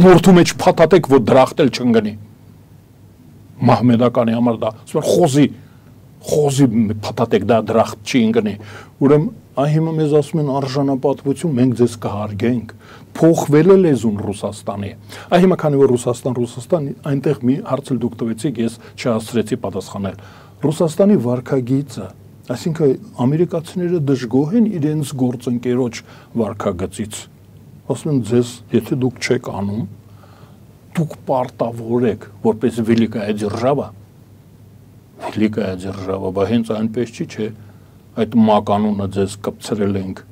մորթու մեջ փաթաթեք, որ դրախտել չընկնի, մահմեդականի համար դա, ասում են խոզի փաթաթեք, դա դրախտ չի ընկնի, ուրեմն հիմա մեզ ասում են արժանապատվություն, մենք ձեզ կհարգենք, փոխվել է լեզուն Ռուսաստանի, հիմա քանի որ Ռուսաստան, այնտեղ մի հարց էլ դուք տվեցիք, ես չհասցրեցի պատասխանել, Ռուսաստանի վարքագիծը, այսինքն ամերիկացիները դժգոհ են իրենց գործընկերոջ վարքագծից, ասում են ձեզ, եթե դուք չեք անում, դուք պարտավոր եք, որպես великая держава, բա հենց այնպես չի, չէ, այդ մականունը ձեզ կպցրել ենք,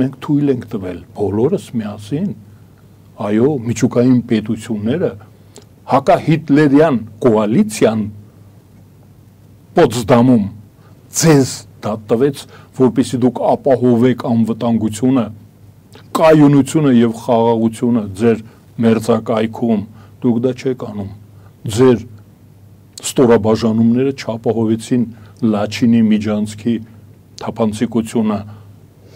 մենք թույլ ենք տվել, բոլորս միասին, այո, միջուկային պետությունները, հակահիտլերյան կոալիցիան Պոտսդամում ձեզ դա տվեց, որպեսզի դուք ապահովեք անվտանգությունը, կայունությունը եւ խաղաղությունը ձեր մերձակայքում, դուք դա չեք անում, ձեր ստորաբաժանումները չապահովեցին Լաչինի Միջանցքի թափանցիկությունը,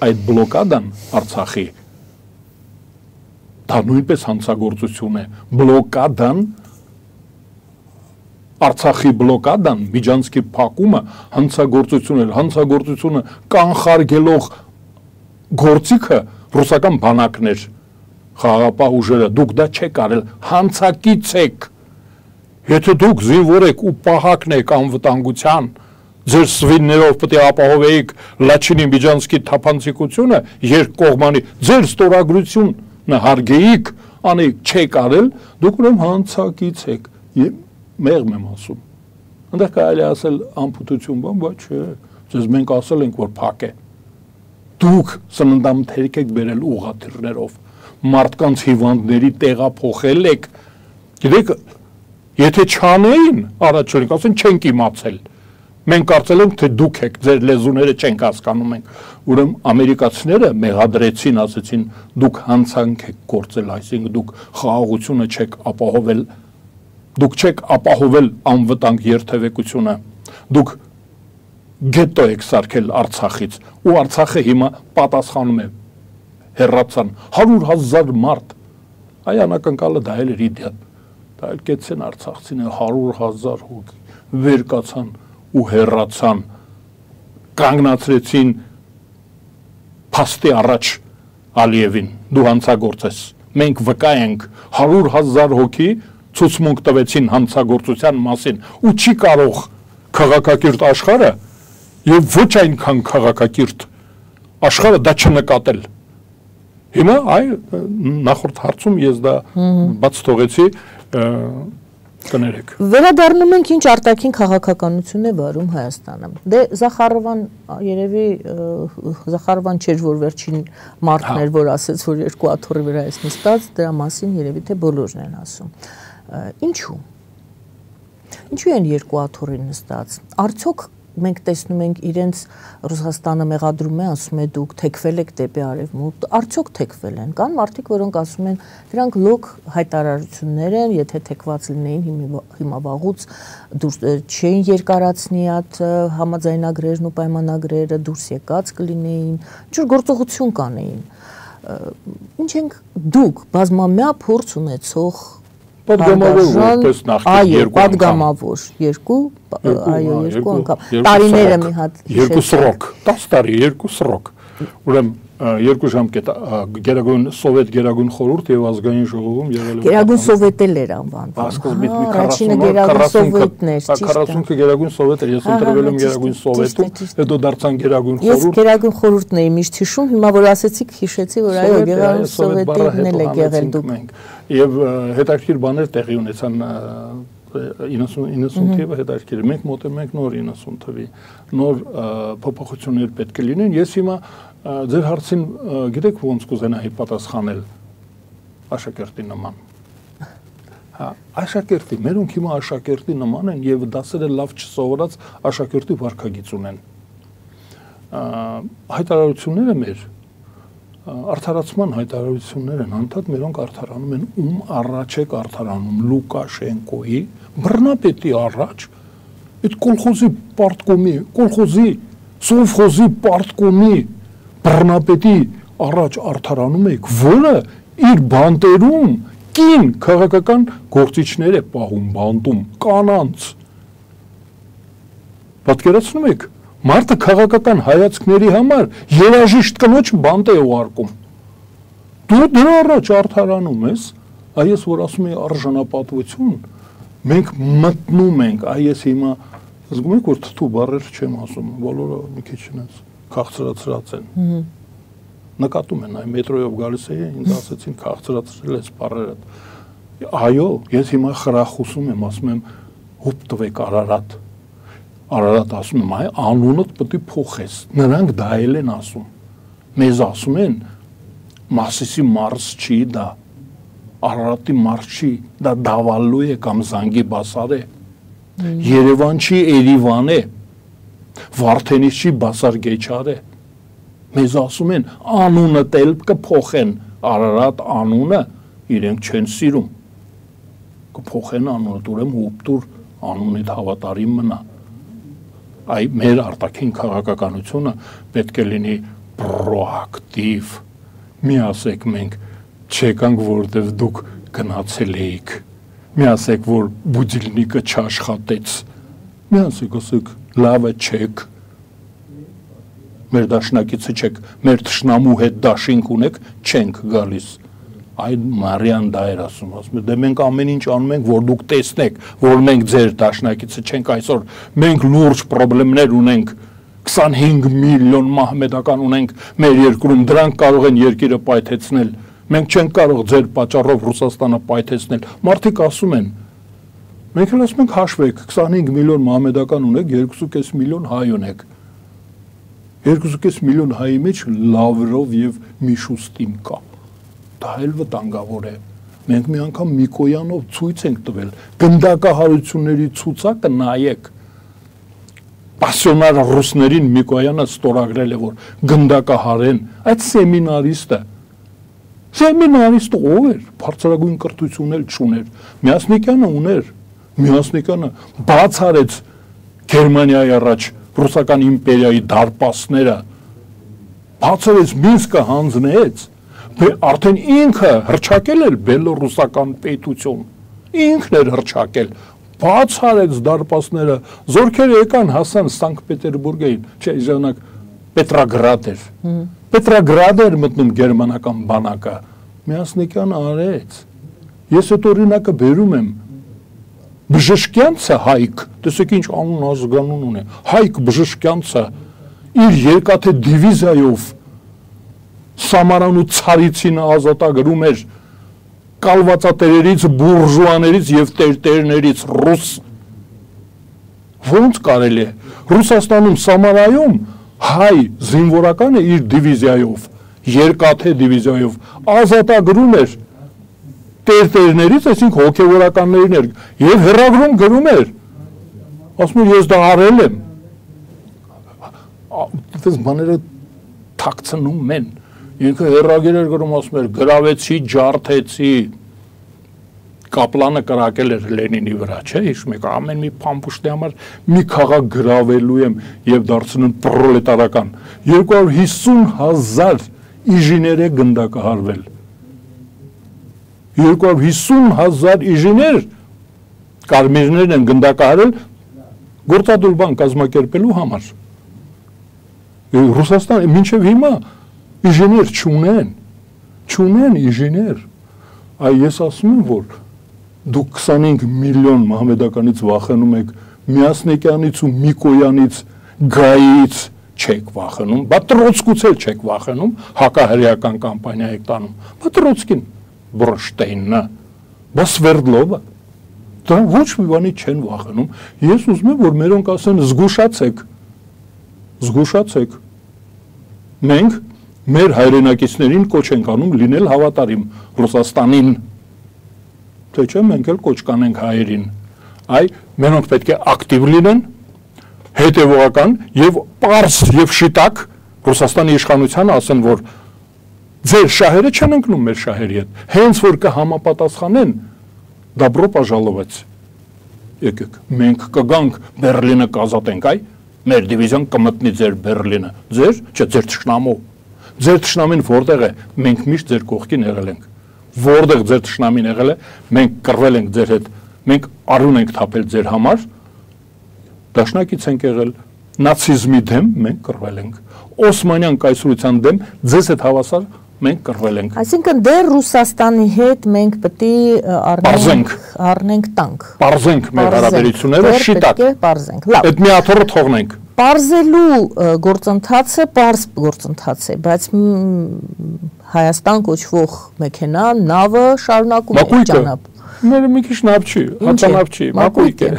այդ բլոկադան Արցախի, դա նույնպես հանցագործություն է, բլոկադան Արցախի բլոկադան, Միջանցքի փակումը հանցագործություն էր, հանցագործությունը կանխարգելող գործիքը ռուսական բանակներ, խաղաղապահ ուժերը, դուք դա չեք արել, հանցակից եք, եթե դուք զինվոր եք ու պահակն եք անվտանգության, ձեր սվիններով պետք է ապահովեիք Լաչինի Միջանցքի թափանցիկությունը, երկկողմանի, ձեր ստորագրությունը հարգեիք, անեիք չեք արել, դուք ուրեմն հանցակից եք, մեղմ եմ ասում, այնտեղ կարելի ասել անփութություն բան, բայց չէ, ձեզ մենք ասել ենք, որ փակ է, դուք սննդամթերք եք բերել ուղղաթիռներով, մարդկանց հիվանդների տեղափոխել եք, գիտեք, եթե չանեին, առաջորդ ասեն չենք իմացել, մենք կարծել ենք, թե դուք եք, ձեր լեզուները չենք հասկանում ենք, ուրեմն ամերիկացիները մեղադրեցին, ասեցին, դուք հանցանք եք գործել, այսինքն դուք խաղաղությունը չեք ապահովել, դուք չեք ապահովել անվտանգ երթևեկությունը, դուք գետո եք սարքել Արցախից, ու Արցախը հիմա պատասխանում է, հեռացան, 100,000 մարդ, այ անակնկալը դա էլ էր իդիոտ, դա էլ կեցեն արցախցիները 100,000 հոգի, վեր կացան ու հեռացան, կանգնացրեցին փաստի առաջ Ալիևին, դու հանցագործ ես, մենք վկա ենք 100,000 հոգի ցուցմունք տվեցին հանցագործության մասին ու չի կարող քաղաքակիրթ աշխարհը եւ ոչ այնքան քաղաքակիրթ աշխարհը դա չնկատել։ Հիմա նախորդ հարցում ես դա բաց թողեցի, կներեք։ Վերադառնում ենք ինչ արտաքին քաղաքականություն է վարում Հայաստանը։ Դե Զախարովան երևի Զախարովան չէր, որ վերջին մարդն էր, որ ասեց, որ երկու աթոռի վրա է նստած, դրա մասին երևի թե բոլորն են ասում։ Ինչու են երկու աթոռի նստած։ Արդյոք մենք տեսնում ենք իրենց Ռուսաստանը մեղադրում է, ասում է դուք թեքվել եք դեպի արևմուտք, արդյոք թեքվել են։ Կան մարդիկ, որոնք ասում են, դրանք լոկ հայտարարություններ են, եթե թեքված լինեին հիմա վաղուց չէին երկարացնի այդ համաձայնագրերն ու պայմանագրերը, դուրս եկած կլինեին, ինչ-որ գործողություն կանեին։ Ինչ ենք դուք բազմամյա փորձ ունեցող Պատգամավոր որպես նախկին երկու անգամ, տարիները մի հատ երկու սրոք, 10 տարի, երկու սրոք, ուրեմն երկու ժամկետ Գերագույն Սովետ Գերագույն խորհուրդ եւ ազգային ժողովում եղել է Գերագույն Սովետել էր անվանվում։ Առաջինը Գերագույն Սովետն էր, ճիշտ է։ 40-ը Գերագույն Սովետ էր, ես ընտրվել եմ Գերագույն Սովետում, հետո դարձան Գերագույն խորհուրդ։ Ես Գերագույն խորհուրդն էի միշտ հիշում, հիմա որ ասեցիք, հիշեցի, որ այո, Գերագույն Սովետն էլ եք եղել դուք։ Եվ հետաքրքիր բաներ տեղի ունեցան 90 թվականին հետաքրքիր մենք մոտենում ենք նոր 90 թվի նոր փոփոխություններ պետք է լինեն ես հիմա ձեր հարցին գիտեք ոնց կուզենայի պատասխանել աշակերտի նման հա աշակերտի մերոնք հիմա աշակերտի նման են եւ դասերը լավ չսովորած աշակերտի վարքագիծ ունեն հայտարարությունները մեր արդարացման հայտարարություններ են, անդադ մերոնք արդարանում են, ում առաջ եք արդարանում, Լուկաշենկոյի, բռնապետի առաջ, այդ կոլխոզի պարտկոմի, կոլխոզի, սովխոզի պարտկոմի բռնապետի առաջ արդարանում եք, որը իր բանտերում կին քաղաքական գործիչներ է պահում բանտում, կանանց։ Պատկերացնում եք, մարդը քաղաքական հայացքների համար երաժիշտ կնոջ բանտ է ուղարկում։ Դու դրա առաջ արդարանում ես, այս որ ասում է արժանապատվություն, մենք մտնում ենք, այս հիմա զգում եք, որ թթու բառեր չեմ ասում, բոլորը մի քիչ ինձ քաղցրացրած են։ Նկատում են, այ մետրոյով գալիս էի, ինձ ասեցին քաղցրացրել ես բառերը։ Այո, ես հիմա խրախուսում եմ, ասում եմ, հուպ տվեք Արարատ։ Արարատ ասում եմ, այ անունդ պետք է փոխես, նրանք դա էլ են ասում, մեզ ասում են, Մասիսի մարս չի դա, Արարատի մարս չի, դա Դավալու է կամ Զանգի Բասար է, Երևան չի Էրիվան է, Վարդենիս չի Բասար Գեչար է, մեզ ասում են, անունը տել կփոխեն, Արարատ անունը իրենք չեն սիրում, կփոխեն անունը, ուրեմն հուպտուր անունիդ հավատարիմ մնա։ Այ մեր արտաքին քաղաքականությունը պետք է լինի պրոակտիվ, մի ասեք մենք չեկանք, որտև դուք գնացել էիք, մի ասեք, որ բուդիլնիկը չաշխատեց, մի ասեք, լավը չեք, մեր դաշնակիցը չեք, մեր թշնամու հետ դաշինք ունեք, չենք գալիս, այ Մարիան դա էր ասում, դե մենք ամեն ինչ անում ենք, որ դուք տեսնեք, որ մենք ձեր դաշնակիցը չենք այսօր, մենք լուրջ պրոբլեմներ ունենք, 25 միլիոն մահմեդական ունենք մեր երկրում, դրանք կարող են երկիրը պայթեցնել, մենք չենք կարող ձեր պատճառով Ռուսաստանը պայթեցնել, մարդիկ ասում են, մենք էլ ասում ենք հաշվեք, 25 միլիոն մահմեդական ունեք, 2.5 միլիոն հայ ունեք, 2.5 միլիոն հայի մեջ Լավրով և Միշուստին կա, դա էլ վտանգավոր է, մենք մի անգամ Միկոյանով ցույց ենք տվել, գնդակահարությունների ցուցակը նայեք, պասիոնար ռուսներին Միկոյանը ստորագրել է, որ գնդակահարեն, այդ սեմինարիստը ով էր, բարձրագույն կրթություն էլ չուներ, Միասնիկյանը ուներ, Միասնիկյանը բաց արեց Գերմանիայի առաջ ռուսական իմպերիայի դարպասները, բաց արեց Մինսկը հանձնեց, արդեն ինքը հռչակել էր բելոռուսական պետություն, ինքն էր հռչակել, բաց արեց դարպասները, զորքերը եկան հասան Սանկտ Պետերբուրգ էին, չէ, ժամանակ Պետրագրադ էր, Պետրագրադ էր մտնում գերմանական բանակը, Միասնիկյանը արեց, ես այդ օրինակը բերում եմ, Բժշկյանցը Հայկ, տեսեք ինչ անուն ազգանուն ունի, Հայկ Բժշկյանցը իր երկաթե դիվիզիայով Սամարան ու Ցարիցին ազատագրում էր կալվածատերերից, բուրժուաներից և տերտերներից ռուս, ոնց կարելի է, Ռուսաստանում Սամարայում հայ զինվորականը իր դիվիզիայով, երկաթե դիվիզիայով ազատագրում էր տերտերներից, այսինք հոգևորականներին էր, և հեռագրում գրում էր, ասում էր ես դա արել եմ, դες բաները թաքցնում են, ինքը հեռագիր էր գրում, ասում էր, գրավեցի, ջարդեցի, Կապլանը կրակել էր Լենինի վրա, չէ, հիշում եք, ամեն մի փամփուշտի համար մի քաղաք գրավելու եմ և դարձնում պրոլետարական, 250,000 իժիներ է գնդակահարվել, 250,000 իժիներ կարմիրներն են գնդակահարել գործադուլ բան կազմակերպելու համար, Ռուսաստան մինչև հիմա իժիներ չունեն իժիներ, այ ես ասում եմ, որ դուք 25 միլիոն մահմեդականից վախենում եք, Միասնիկյանից ու Միկոյանից, Գայից չեք վախենում, բա Տրոցկուց էլ չեք վախենում, հակահրեական կամպանիա եք տանում, բա Տրոցկին, Բրոնշտեյնը, բա Սվերդլովը, դրանք ոչ մի բանի չեն վախենում, ես ուզում եմ, որ մերոնք ասեն զգուշացեք, մենք մեր հայրենակիցներին կոչ ենք անում լինել հավատարիմ Ռուսաստանին, թե չէ մենք էլ կոչ կանենք հայերին, այ մենոնք պետք է ակտիվ լինեն, հետևողական և պարզ եւ շիտակ Ռուսաստանի իշխանությանը ասեն, որ ձեր շահերը չեն ընկնում մեր շահերի հետ, հենց որ կհամապատասխանեն, դաբրո պաժալովեց, եկեք, մենք կգանք Բերլինը կազատենք, այ, մեր դիվիզիան կմտնի ձեր Բերլինը, ձեր, չէ, ձեր թշնամու, ձեր թշնամին որտեղ է, մենք միշտ ձեր կողքին եղել ենք, որտեղ ձեր թշնամին եղել է, մենք կռվել ենք ձեր հետ, մենք արուն ենք թափել ձեր համար, դաշնակից ենք եղել, նացիզմի դեմ մենք կռվել ենք, Օսմանյան կայսրության դեմ ձեզ հետ հավասար մենք կռվել ենք։ Այսինքն դեռ Ռուսաստանի հետ մենք պետք է առնենք տանկ։ Պարզենք մեր հարաբերությունները շիտակ։ Պարզենք։ Լավ։ Այդ մի աթոռը թողնենք։ Պարզելու գործընթացը պարզ գործընթաց է, բայց Հայաստան կոչվող մեքենա, նավը շարունակում է ճանապարհ։ Մեր մի քիչ նավ չի, հաճանավ չի, մակույկ է։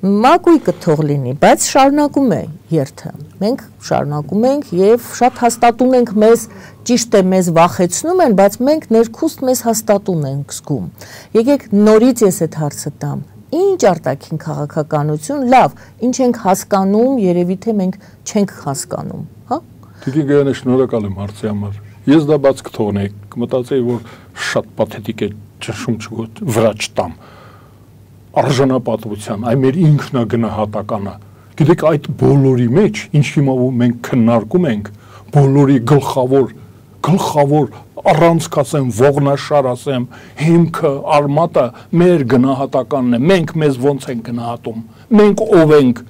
Մակույկը թող լինի, բայց շարունակում է երթը։ Մենք շարունակում ենք եւ շատ հաստատուն ենք մեզ, ճիշտ է մեզ վախեցնում են, բայց մենք ներքուստ մեզ հաստատուն ենք զգում։ Եկեք նորից ես այդ հարցը տամ։ Ինչ արտաքին քաղաքականություն, լավ, ինչ ենք հասկանում, երևի թե մենք չենք հասկանում, հա։ Տիկին Գայանե, շնորհակալ եմ հարցի համար։ Ես դա բաց կթողնեի, կմտածեի, որ շատ պաթետիկ է ճնշում չգոտ վրա չտամ։ Արժանապատվության, այ մեր ինքնագնահատականը։ Գիտեք, այդ բոլորի մեջ, ինչ հիմա մենք քննարկում ենք, բոլորի գլխավոր առանց կասեմ, ողնաշար ասեմ, հիմքը, արմատը մեր գնահատականն է, մենք մեզ ոնց ենք գնահատում, մենք ով ենք,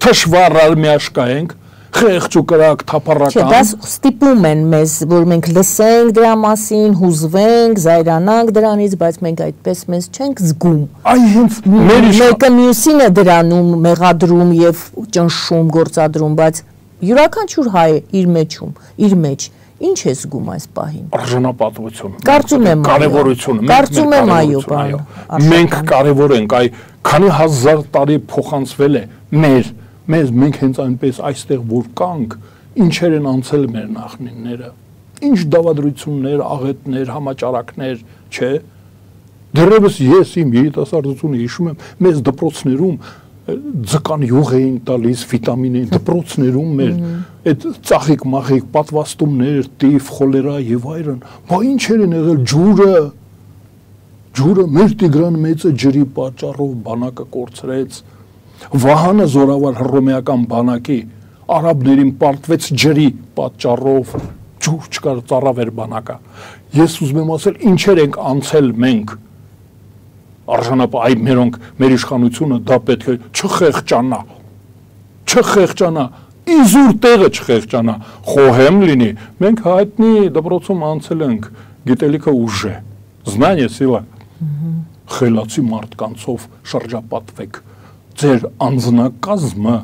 թշվառ արմիաշկա ենք, խեղճ ու կրակ թափառական։ Չէ, դա ստիպում են մեզ, որ մենք լսենք դրա մասին, հուզվենք, զայրանանք դրանից, բայց մենք այդպես մեզ չենք զգում։ Այ հենց մեկը մյուսին է դրանում, մեղադրում եւ ճնշում, գործադրում, բայց յուրաքանչյուր հայ իր մեջ ինչ է զգում այս պահին։ Արժանապատվություն։ Կարծում եմ կարևորությունը։ Կարծում եմ այո, բան։ Մենք կարևոր ենք, այ քանի հազար տարի փոխանցվել է մենք հենց այնպես այստեղ որ կանք, ինչեր են անցել մեր նախնիները, ինչ դավադրություններ, աղետներ, համաճարակներ, չէ։ Դեռևս ես իմ երիտասարդությունը հիշում եմ, մեզ դպրոցներում ձկան յուղ էին տալիս, վիտամին էին դպրոցներում մեր այդ ծաղիկ-մաղիկ պատվաստումներ, տիֆ, խոլերա եւ այլն, բա ինչեր են եղել ջուրը մեր Տիգրան մեծը ջրի պատճառով բանակը կորցրեց, Վահանը զորավար հռոմեական բանակի արաբներին պարտվեց ջրի պատճառով, ջուր չկար, ծառավ էր բանակը։ Ես ուզում եմ ասել, ինչեր ենք անցել մենք, արժանապատվություն, այ մերոնք մեր իշխանությունը դա պետք է չխեղճանա, իզուր տեղը չխեղճանա, խոհեմ լինի, մենք հայտնի դպրոցում անցել ենք, գիտելիքը ուժ է, знание сила, խելացի մարդկանցով շրջապատվեք, ձեր անձնակազմը,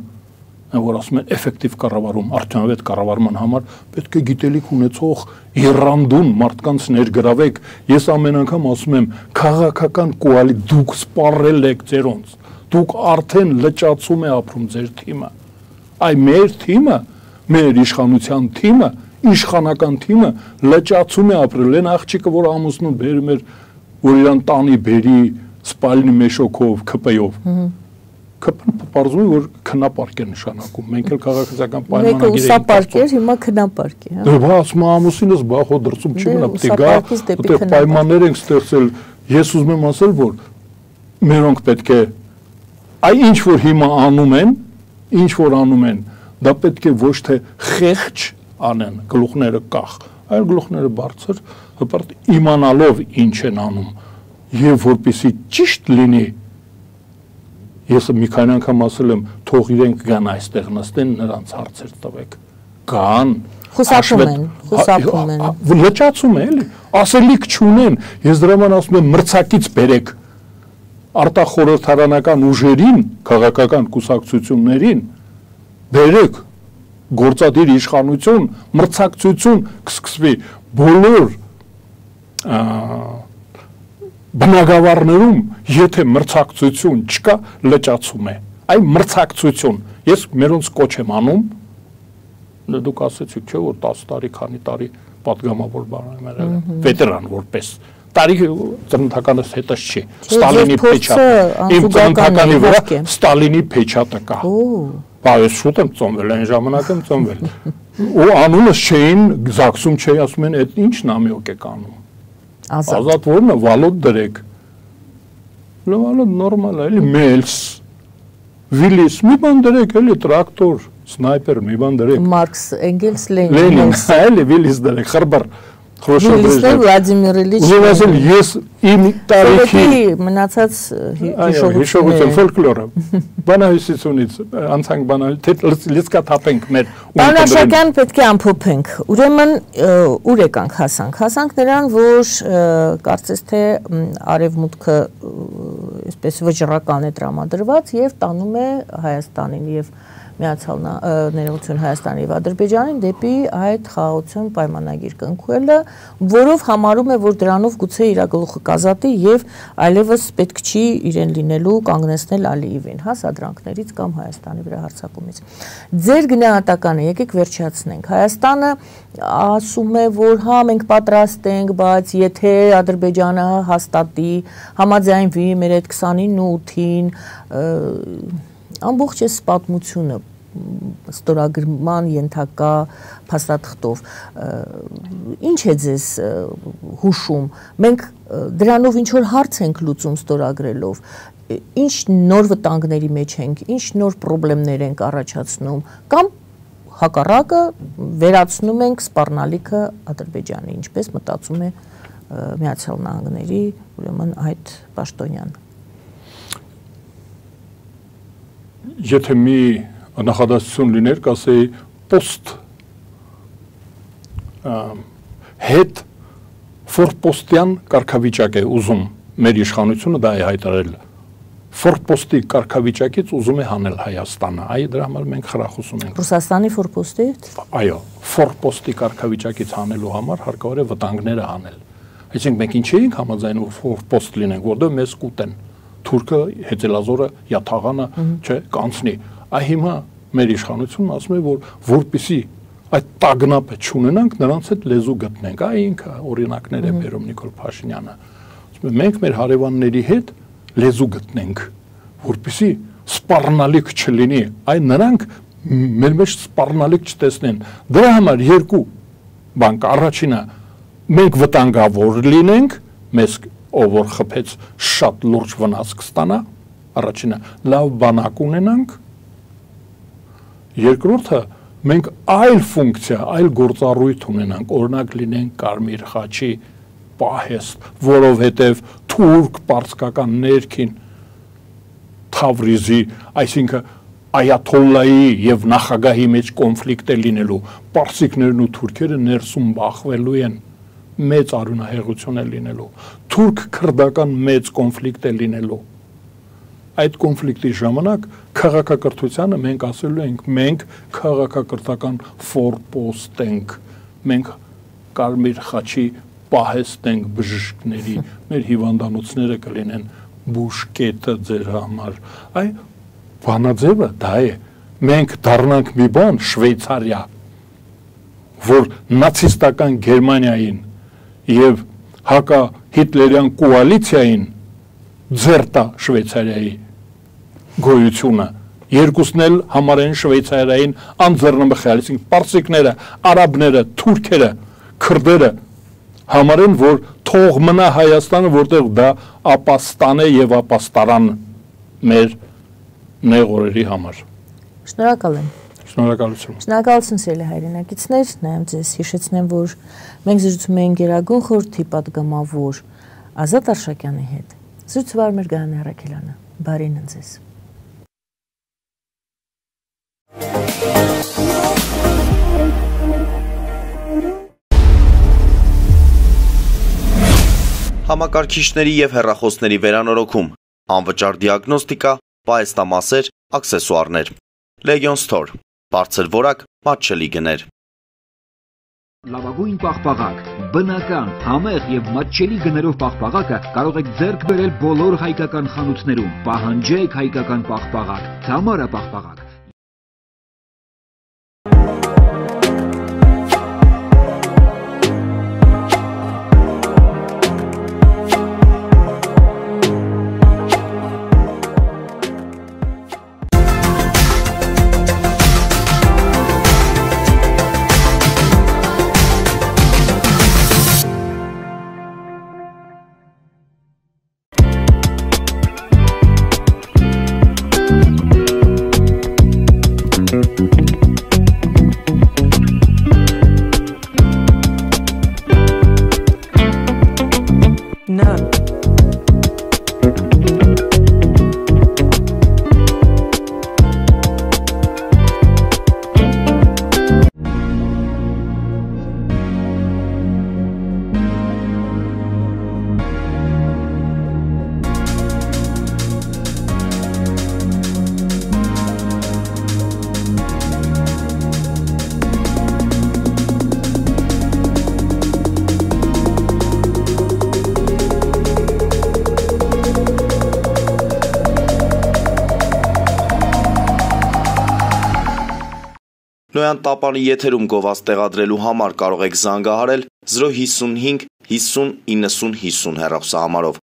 որ ասում են էֆեկտիվ կառավարում, արդյունավետ կառավարման համար պետք է գիտելիք ունեցող երանդուն մարդկանց ներգրավեք։ Ես ամեն անգամ ասում եմ, քաղաքական կոալիցիա դուք սպառել եք ձերոնց, դուք արդեն լճացում է ապրում ձեր թիմը։ Այ մեր թիմը, մեր իշխանության թիմը, իշխանական թիմը լճացում է ապրել, այն աղջիկը, որ ամուսնուն բերում էր, որ իրան տանի բերի սպալնի մեշոքով, քպեյով։ Քպն պարզում է, որ քնապարկ է նշանակում, մենք էլ քաղաքացիական պայմանագիր ենք։ Մեկը ուսապարկ էր, հիմա քնապարկ է, հա։ Դե ասում ամուսինս բա հո դրսում չի մնա, պետք է գա, այդտեղ պայմաններ ենք ստեղծել։ Ես ուզում եմ ասել, որ մերոնք պետք է այ ինչ որ հիմա անում են, դա պետք է ոչ թե խեղճ անեն, գլուխները կախ, այլ գլուխները բարձր, հպարտ իմանալով ինչ են անում, եւ որպեսզի ճիշտ լինի։ Ես մի քանի անգամ ասել եմ, թող իրենք գան այստեղ նստեն, նրանց հարցեր տվեք։ Գան, խուսափում են։ Լճացում է, էլի, ասելիք չունեն։ Ես դրա համար ասում եմ, մրցակից բերեք արտախորհրդարանական ուժերին, քաղաքական կուսակցություններին, բերեք գործադիր իշխանություն, մրցակցություն կսկսվի բոլոր բնակավարներում, եթե մրցակցություն չկա, լճացում է։ Այ մրցակցություն։ Ես մերոնց կոչ եմ անում, դուք ասեցիք, չէ, որ 10 տարի, քանի տարի պատգամավոր բան եմ եղել, վետերան որպես։ Տարիքը ծննդականս հետս չի։ Ստալինի փեչատը, իմ ծննդականի վրա Ստալինի փեչատը կա։ Բայց շուտ եմ ծնվել, այն ժամանակ եմ ծնվել։ Ու անունս չէին, զաքսում չէի, ասում են, այդ ինչ նամյոկ եք անում։ Ազատ որն է, Վալոդ դրեք։ Վալոդ նորմալ է, էլի Մելս, Վիլիս, մի բան դրեք, էլի տրակտոր, սնայպեր, մի բան դրեք։ Մարքս, Էնգելս, Լենին, էլի Վիլիս դրեք, խրբար։ Վիլիսներ Վլադիմիր Իլիչ։ Ուզում ես իմ տարիքի մնացած հիշողություն ֆոլկլորը բանահյուսությունից անցանք բանալ լիսկա թափենք մեր Բանաշակյան պետք է ամփոփենք ուրեմն ուր եկանք հասանք նրան որ կարծես թե արևմուտքը այսպես վճռական է տրամադրված եւ տանում է Հայաստանին եւ Միացյալ Ներողություն Հայաստանի եւ Ադրբեջանին դեպի այդ խաղաղություն պայմանագիր կնքելը, որով համարում է, որ դրանով գուցե իր գլուխը կազատի եւ այլևս պետք չի իրեն լինելու կանգնեցնել Ալիևին, հա, սադրանքներից կամ Հայաստանի վրա հարձակումից։ Ձեր գնահատականը եկեք վերջացնենք։ Հայաստանը ասում է, որ հա մենք պատրաստ ենք, բայց եթե Ադրբեջանը հաստատի, համաձայնվի մեր այդ 29 ու 8-ին ամբողջ այս պատմությունը ստորագրման ենթակա փաստաթղթով ինչ է ձեզ հուշում մենք դրանով ինչ որ հարց ենք լուծում ստորագրելով ինչ նոր վտանգների մեջ ենք ինչ նոր խնդիրներ ենք առաջացնում կամ հակառակը վերացնում ենք սպառնալիքը Ադրբեջանի ինչպես մտածում է Միացյալ Նահանգների ուրեմն այդ պաշտոնյան Եթե մի նախադասություն լիներ, կասեի post հետ ֆորպոստյան կարգավիճակ է ուզում մեր իշխանությունը դա է հայտարարել ֆորպոստի կարգավիճակից ուզում է հանել Հայաստանը այ դրա համար մենք խրախուսում ենք Ռուսաստանի ֆորպոստի այո ֆորպոստի կարգավիճակից հանելու համար հարկավոր է վտանգները հանել այսինքն մենք ինչ էինք համաձայնում ֆորպոստ լինենք որտեղ մեզ կուտեն Թուրքը, Հեծելազորը, Յաթաղանը, չէ, կանցնի։ Այ հիմա մեր իշխանությունն ասում է, որ որպեսի այդ տագնապը չունենանք, նրանց հետ լեզու գտնենք։ Այ ինքը օրինակներ է բերում Նիկոլ Փաշինյանը։ Ասում է, մենք մեր հարևանների հետ լեզու գտնենք, որպեսի սպառնալիք չլինի։ Այ նրանք մեր մեջ սպառնալիք չտեսնեն։ Դրա համար երկու բան կա։ Առաջինը մենք վտանգավոր լինենք, մեզ ով որ խփեց շատ լուրջ վնաս կստանա առաջինը լավ բանակ ունենանք երկրորդը մենք այլ ֆունկցիա այլ գործառույթ ունենանք օրինակ լինենք Կարմիր խաչի պահեստ որովհետև թուրք պարսկական ներքին Թավրիզի այսինքն Այաթոլլայի եւ նախագահի մեջ կոնֆլիկտ է լինելու պարսիկներն ու թուրքերը ներսում բախվելու են մեծ արյունահեղություն է լինելու թուրք-քրդական մեծ կոնֆլիկտ է լինելու այդ կոնֆլիկտի ժամանակ քաղաքակրթությանը մենք ասելու ենք մենք քաղաքակրթական ֆորպոստ ենք մենք Կարմիր խաչի պահեստ ենք բժիշկների մեր հիվանդանոցները կլինեն բուժկետը ձեր համար այ բանաձևը դա է մենք դառնանք մի բան Շվեյցարիա որ նացիստական Գերմանիային եւ հակա հիտլերյան կոալիցիային ձերտա Շվեյցարիայի գոյությունը երկուսն էլ համարեն Շվեյցարիային անձեռնմխել, այսինքն պարսիկները, արաբները, թուրքերը, քրդերը համարեն, որ թող մնա Հայաստանը, որտեղ դա ապաստան է եւ ապաստարան մեր նեղ օրերի համար։ Շնորհակալ եմ։ Շնորհակալություն։ Շնորհակալություն սիրելի հայրենակիցներ, նայեմ ձեզ հիշեցնեմ, որ մենք զրուցում ենք Գերագույն խորհրդի պատգամավոր Ազատ Արշակյանի հետ։ Զրուցվար մեր Գայանե Առաքելյանը։ Բարին ձեզ։ Համակարգիչների եւ հեռախոսների վերանորոգում, անվճար դիագնոստիկա, պահեստամասեր, աքսեսուարներ։ Legion Store Բարձր որակ, մատչելի գներ։ Լավագույն պաղպաղակ, բնական, համեղ եւ մատչելի գներով պաղպաղակը կարող եք ձեռք բերել բոլոր հայկական խանութներում։ Պահանջեք հայկական պաղպաղակ, Թամարա պաղպաղակ։ Նոյան տապանի եթերում գովազ տեղադրելու համար կարող եք զանգահարել 055 50 90 50 հեռախոսահամարով։